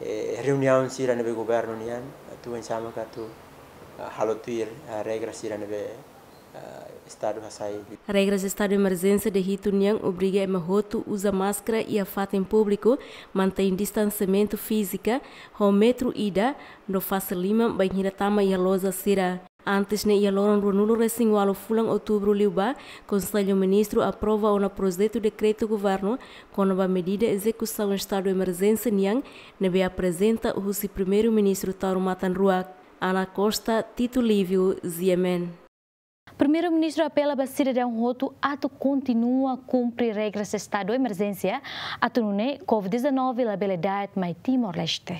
eh, reuniaun sira ne'ebé governu nian, atu oinsá maka atu, ah, halo tuir, ah, regra sira ne'ebé Estadu hasai. Regras estadu emerjénsia de hitu nian obriga ema hotu uza máskara iha fatin públiku, mantein distansiamentu fízika, ho metru ida, no fase liman bainhira tama iha loja sira. Antes ne'e iha loron ruanulu resin ualu fulan outubru liubá, Konsellu Ministru aprova ona projetu dekretu governu kona-ba medida ezekusaun estadu emerjénsia nian, ne'ebé aprezenta husi Primeiru-Ministru Taur Matan Ruak. Ana Costa, Tito Lívio, G M N. Primeiru-Ministru apela ba sidadaun hotu atu kontinua kumpre regras estadu emerjénsia, atu nune'e covid dezanove labele da'et mai Timor-Leste.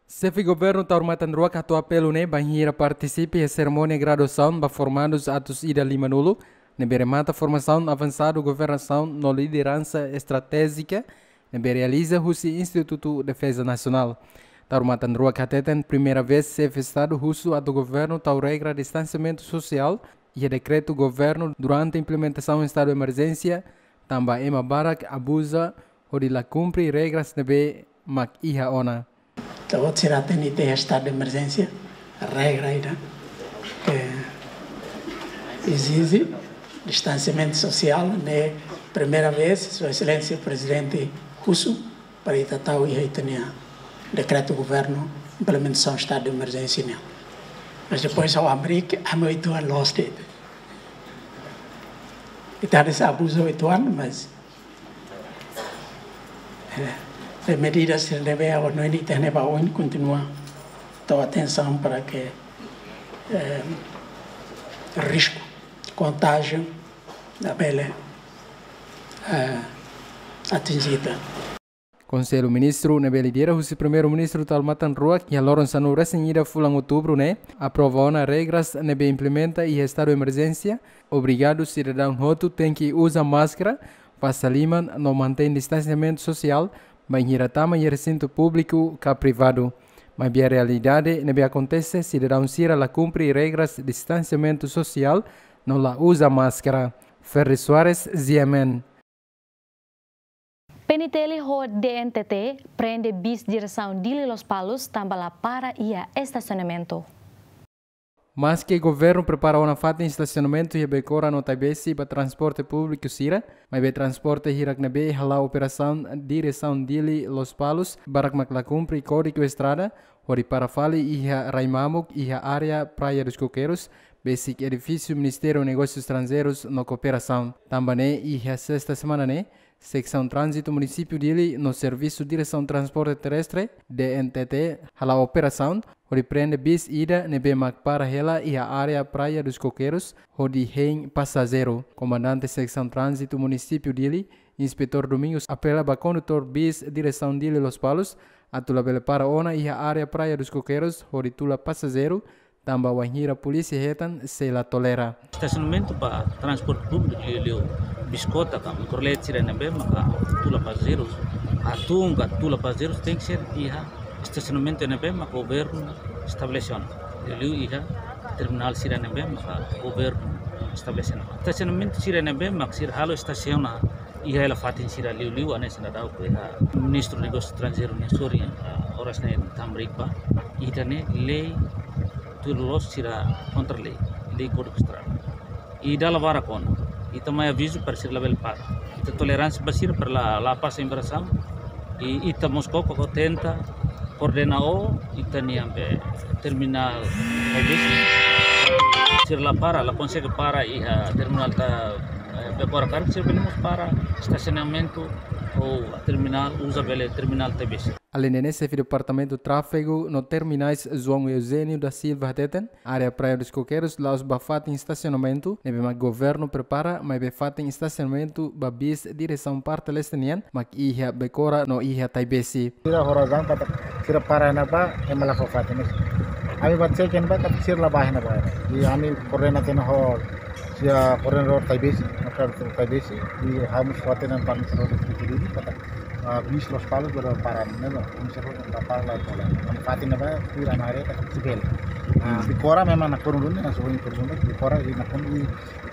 Xefe Governu Taur Matan Ruak hato'o apelu ne'e bainhira partisipa iha serimónia graduasaun ba formandus atus ida limanulu, ne'ebé remata formasaun avansadu governasaun no lideransa estratéjika, ne'ebé realiza husi Institutu Defeza Nasionál. Taur Matan Ruak hateten primeira vez Xefe Estadu husu atu governu tau regra distansiamentu sosiál iha dekretu governu durante implementasaun estadu emerjénsia, tanba ema barak abuza hodi la kumpre regras ne'ebé mak iha ona. Ita-boot sira hatene ita iha estadu de emerjénsia, regra ida ke ezije distansiamentu sosiál, ne'e primeira vez Sua Exelénsia Prezidente husu para ita tau iha ita-nia dekretu governu implementasaun estadu de emerjénsia nian. Mas depois ha'u hamriik, ami oituan loos de'it. Ita hanesan abuza oituan, mas, eh, eh, medidas sira ne'ebé ha'u hanoin ita-nia ba oin kontinua tau atensaun para ke, eh, risku kontájiu labele, eh, atinje ita. Konsellu Ministru ne'ebé lidera husi Primeiru-Ministru Taur Matan Ruak iha loron sanulu resin ida fulan outubru ne'e aprova ona regras ne'ebé implementa iha estadu emerjénsia, obrigadu sidadaun hotu tenke uza máskara, fase liman no mantein distansiamentu sosiál bainhira tama iha resintu públiku ka privadu. Maibé realidade ne'ebé akontese sidadaun sira la kumpre regras distansiamentu sosiál no la uza máskara. Ferri Soares, G M N. P N T L ho D N T T prende bis diresaun Dili Lospalos tanba la para iha estasionamentu. Maske governu prepara ona fatin estasionamentu iha Becora no Taibesi ba transporte públiku sira, maibé transporte hirak ne'ebé hala'o operasaun diresaun Dili Lospalos barak mak la kumpre kódigu estrada, hodi para fali iha rai mamuk iha área Praia dos Coqueiros, besik edifísiu Ministériu Negósius Estranjeirus no Kooperasaun. Tanba ne'e iha sesta semana ne'e, Seksaun Tránzitu Munisípiu Dili no Servisu Diresaun Transporte Terrestre, D N T T, hala'o operasaun hodi prende bis ida ne'ebé mak para hela iha área Praia dos Coqueiros hodi hein pasajeiru. Komandante Seksaun Tránzitu Munisípiu Dili, Inspetór Domingos, apela ba kondutór bis diresaun Dili Lospalos atu labele para ona iha área Praia dos Coqueiros hodi tula pasajeiru, tanba wainhira polísia hetan sei la tolera. Estasionamentu ba transporte públiku liuliu biskota ka mikrolet sira ne'ebé maka tula pasajeirus, atun ka tula pasajeirus tenke ser iha estasionamentu ne'ebé maka governu estabelese ona. Liuliu iha terminál sira ne'ebé maka governu estabelese ona. Estasionamentu sira ne'ebé mak sira halo estasiona iha hela fatin sira liuliu hanesan daudaun iha Ministru Negósius Estranjeirus nia sorin, ah, oras ne'e hamriik ba, ita-nia lei tuir loloos sira kontra lei, lei kódigu estrada. I dala barak ona, ita mai avizu para sira labele para. Ita toleránsia ba sira para la, la pasa infrasaun. I ita mós koko tenta koordena ho ita-nia be terminál Taibesi. Sira la para, la konsege para iha terminál ta, eh, Becora karik sira bele mós para estasionamentu ou terminál, uza bele terminál Taibesi. Aleinde ne'e, Xefe Departamentu Tráfegu no Terminais, João Eugênio da Silva, hateten área Praia dos Coqueiros la'ós ba fatin estasionamentu ne'ebé mak governu prepara, maibé fatin estasionamentu ba bis diresaun parte leste nian mak iha Becora no iha Taibesi. Sira ho razaun katak sira para iha ne'ebá, ema la fó fatin. Ami bá cek iha ne'ebá katak sira la bá iha ne'ebá. I ami koordena tiha ona ho, sira koordena ho Taibesi, no kar Taibesi. I ha'u mós fó hatene ba administrasaun Dili katak, ah, bis Lospalos bele para ne'ebá, ami sira la para la tola. Ami fatin ne'ebá, sira na área katak sibel. Ah, Becora memang nakonu duni, na soin nakonu duni, Becora i nakonu i,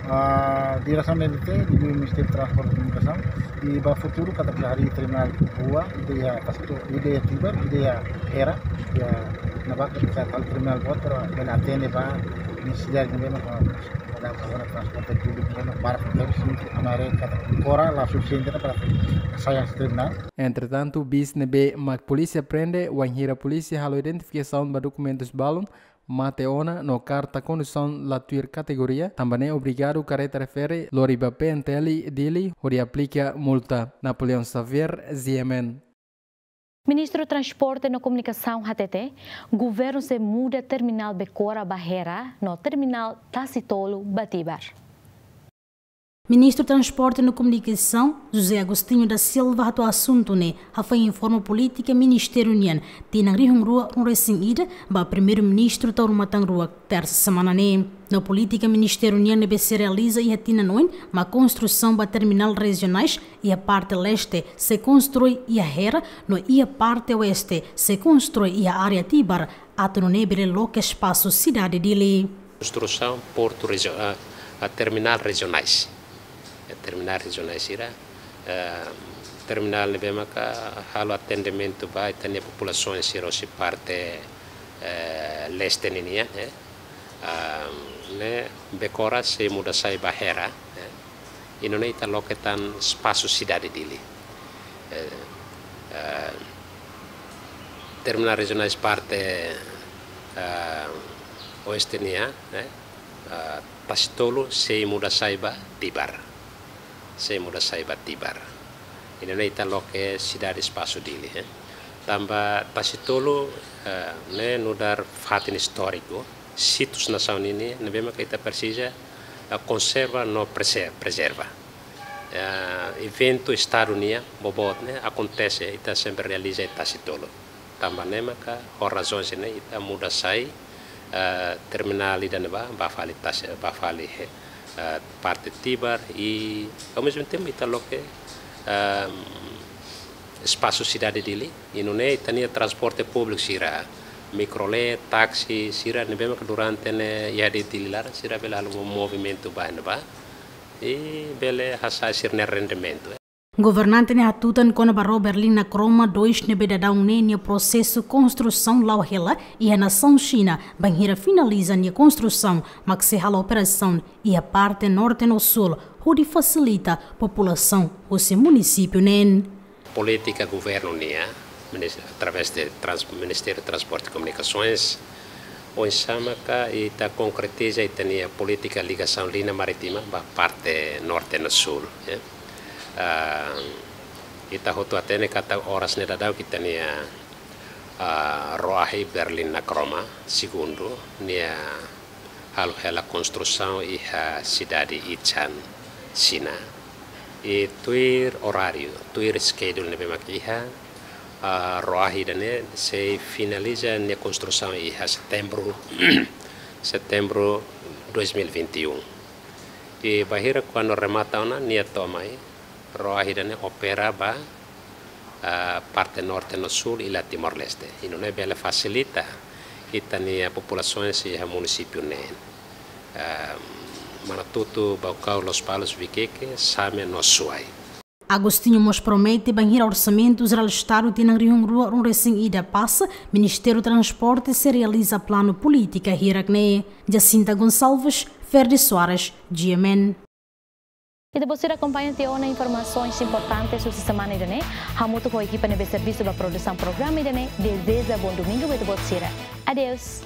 ah, diresaun D N T T, di Ministériu Transporte e Komunikasaun, i ba futuru katak harii terminál rua, ida iha Pastor, ida iha Tibar, ida iha Hera, iha Ne'ebá ke bisa halo terminál boot, pero bele atende ba nesesidade ne'ebé mak, ah, ora transporte públiku ne'ebé mak para fronteira, sin ke amare kata kora la sufisiente para sai terminál. Entretantu, bis ne'ebé mak polísia prende, wainhira polísia halo identifikasaun ba dokumentus balun, mate ona no karta kondusaun la tuir kategoria, tanba ne'e obrigadu karreta refere lori ba P N T L Dili hodi aplika multa. Napoleão Xavier, G M N. Ministru Transporte no Komunikasaun hatete, governu sei muda terminál Becora ba Hera no terminál Tasi Tolu ba Tibar. Ministru Transporte no Komunikasaun, José Agostinho da Silva, hato'o asuntu ne'e hafoin informa polítika ministériu nian tinan rihun rua ruanulu-resin-ida ba Primeiru-Ministru Taur Matan Ruak, tersa semana ne'e. No polítika ministériu nian ne'ebé sei realiza iha tinan oin, mak konstrusaun ba terminál rejionais iha parte leste sei konstrui iha Hera, no iha parte oeste sei konstrui iha área Tibar, atu nune'e bele loke espasu sidade Dili. Konstrusaun portu rejio-, ah, ah, terminál rejionais. Eh, terminál rejionais sira, eh, terminál ne'ebé maka halo atendimentu ba ita-nia populasaun sira hosi parte, eh, leste ninian, eh. Ah, ne'e Becora sei muda sai ba Hera, eh. I nune'e ita loke tan espasu sidade Dili. Eh, eh, terminál rejionais parte, eh, oeste nian, eh, eh, Tasi Tolu sei muda sai ba Tibar. Sei muda sai ba Tibar. I nune'e ita loke sidade espasu Dili, eh. Tanba Tasi Tolu, eh, ne'e nu'udar fatin istóriku, sítius nasaun ninian, ne'ebé maka ita presiza, eh, konserva no prese-, prezerva. Eh, eventu Estadu nian boboot ne'e akontese, ita sempre realiza iha Tasi Tolu. Tanba ne'e maka, ho razaun sira-ne'e ita muda sai, eh, terminál ida-ne'ebá, ba fali Tasi, ba fali, eh, parte Tibar, i ao mesmo tempo ita loke, eh, espasu sidade Dili, i nune'e ita-nia transporte públiku sira, mikrolé, táksi, sira ne'ebé maka durante ne'e iha Dili laran, sira bele halo movimentu ba ne'ebá, i bele hasa'e sira-nia rendimentu. Governante ne'e hatutan kona-ba Rua Berlin Nakroma dois ne'ebé daudaun ne'e nia prosesu konstrusaun la'o hela iha nasaun Xina, bainhira finaliza nia konstrusaun, mak sei halo operasaun iha parte norte no súl, hodi fasilita populasaun husi munisípiu neen. Polítika governu nian, minis-, através de trans-, Ministériu Transporte e Komunikasoens, oinsá maka ita konkretiza ita-nia polítika ligasaun liña marítima ba parte norte no súl, ya. Ah, ita hotu hatene katak oras ne'e daudaun ita-nia, ah, Roahi Berlin Nakroma segundu, nia halo hela konstrusaun iha sidade Yichang, Xina. I tuir oráriu, tuir schedule ne'ebé mak iha, ah, Roahi ida-ne'e sei finaliza nia konstrusaun iha Setembru, Setembru dois mil e vinte e um. I bainhira kuandu remata ona, nia to'o mai, Roahi ida-ne'e opera ba, ah, parte norte no súl i la Timor-Leste. I nune'e bele fasilita ita-nia populasaun sira iha munisípiu neen. Ah, Manatutu, Baucau, Lospalos, Viqueque, Same no Suai. Agostinho mós promete bainhira Orsamentu Jerál Estadu tinan rihun rua ruanulu-resin-ida pasa, Ministériu Transporte sei realiza planu polítika hirak-ne'e. Jacinta Gonçalves, Ferdi Soares, G M N. Ita-boot sira akompaña tiha ona informasaun importante husi semana ida-ne'e. Hamutuk ho ekipa ne'ebé servisu ba produsaun programa ida-ne'e, dezeja bom domingu ba ita-boot sira. Adeus.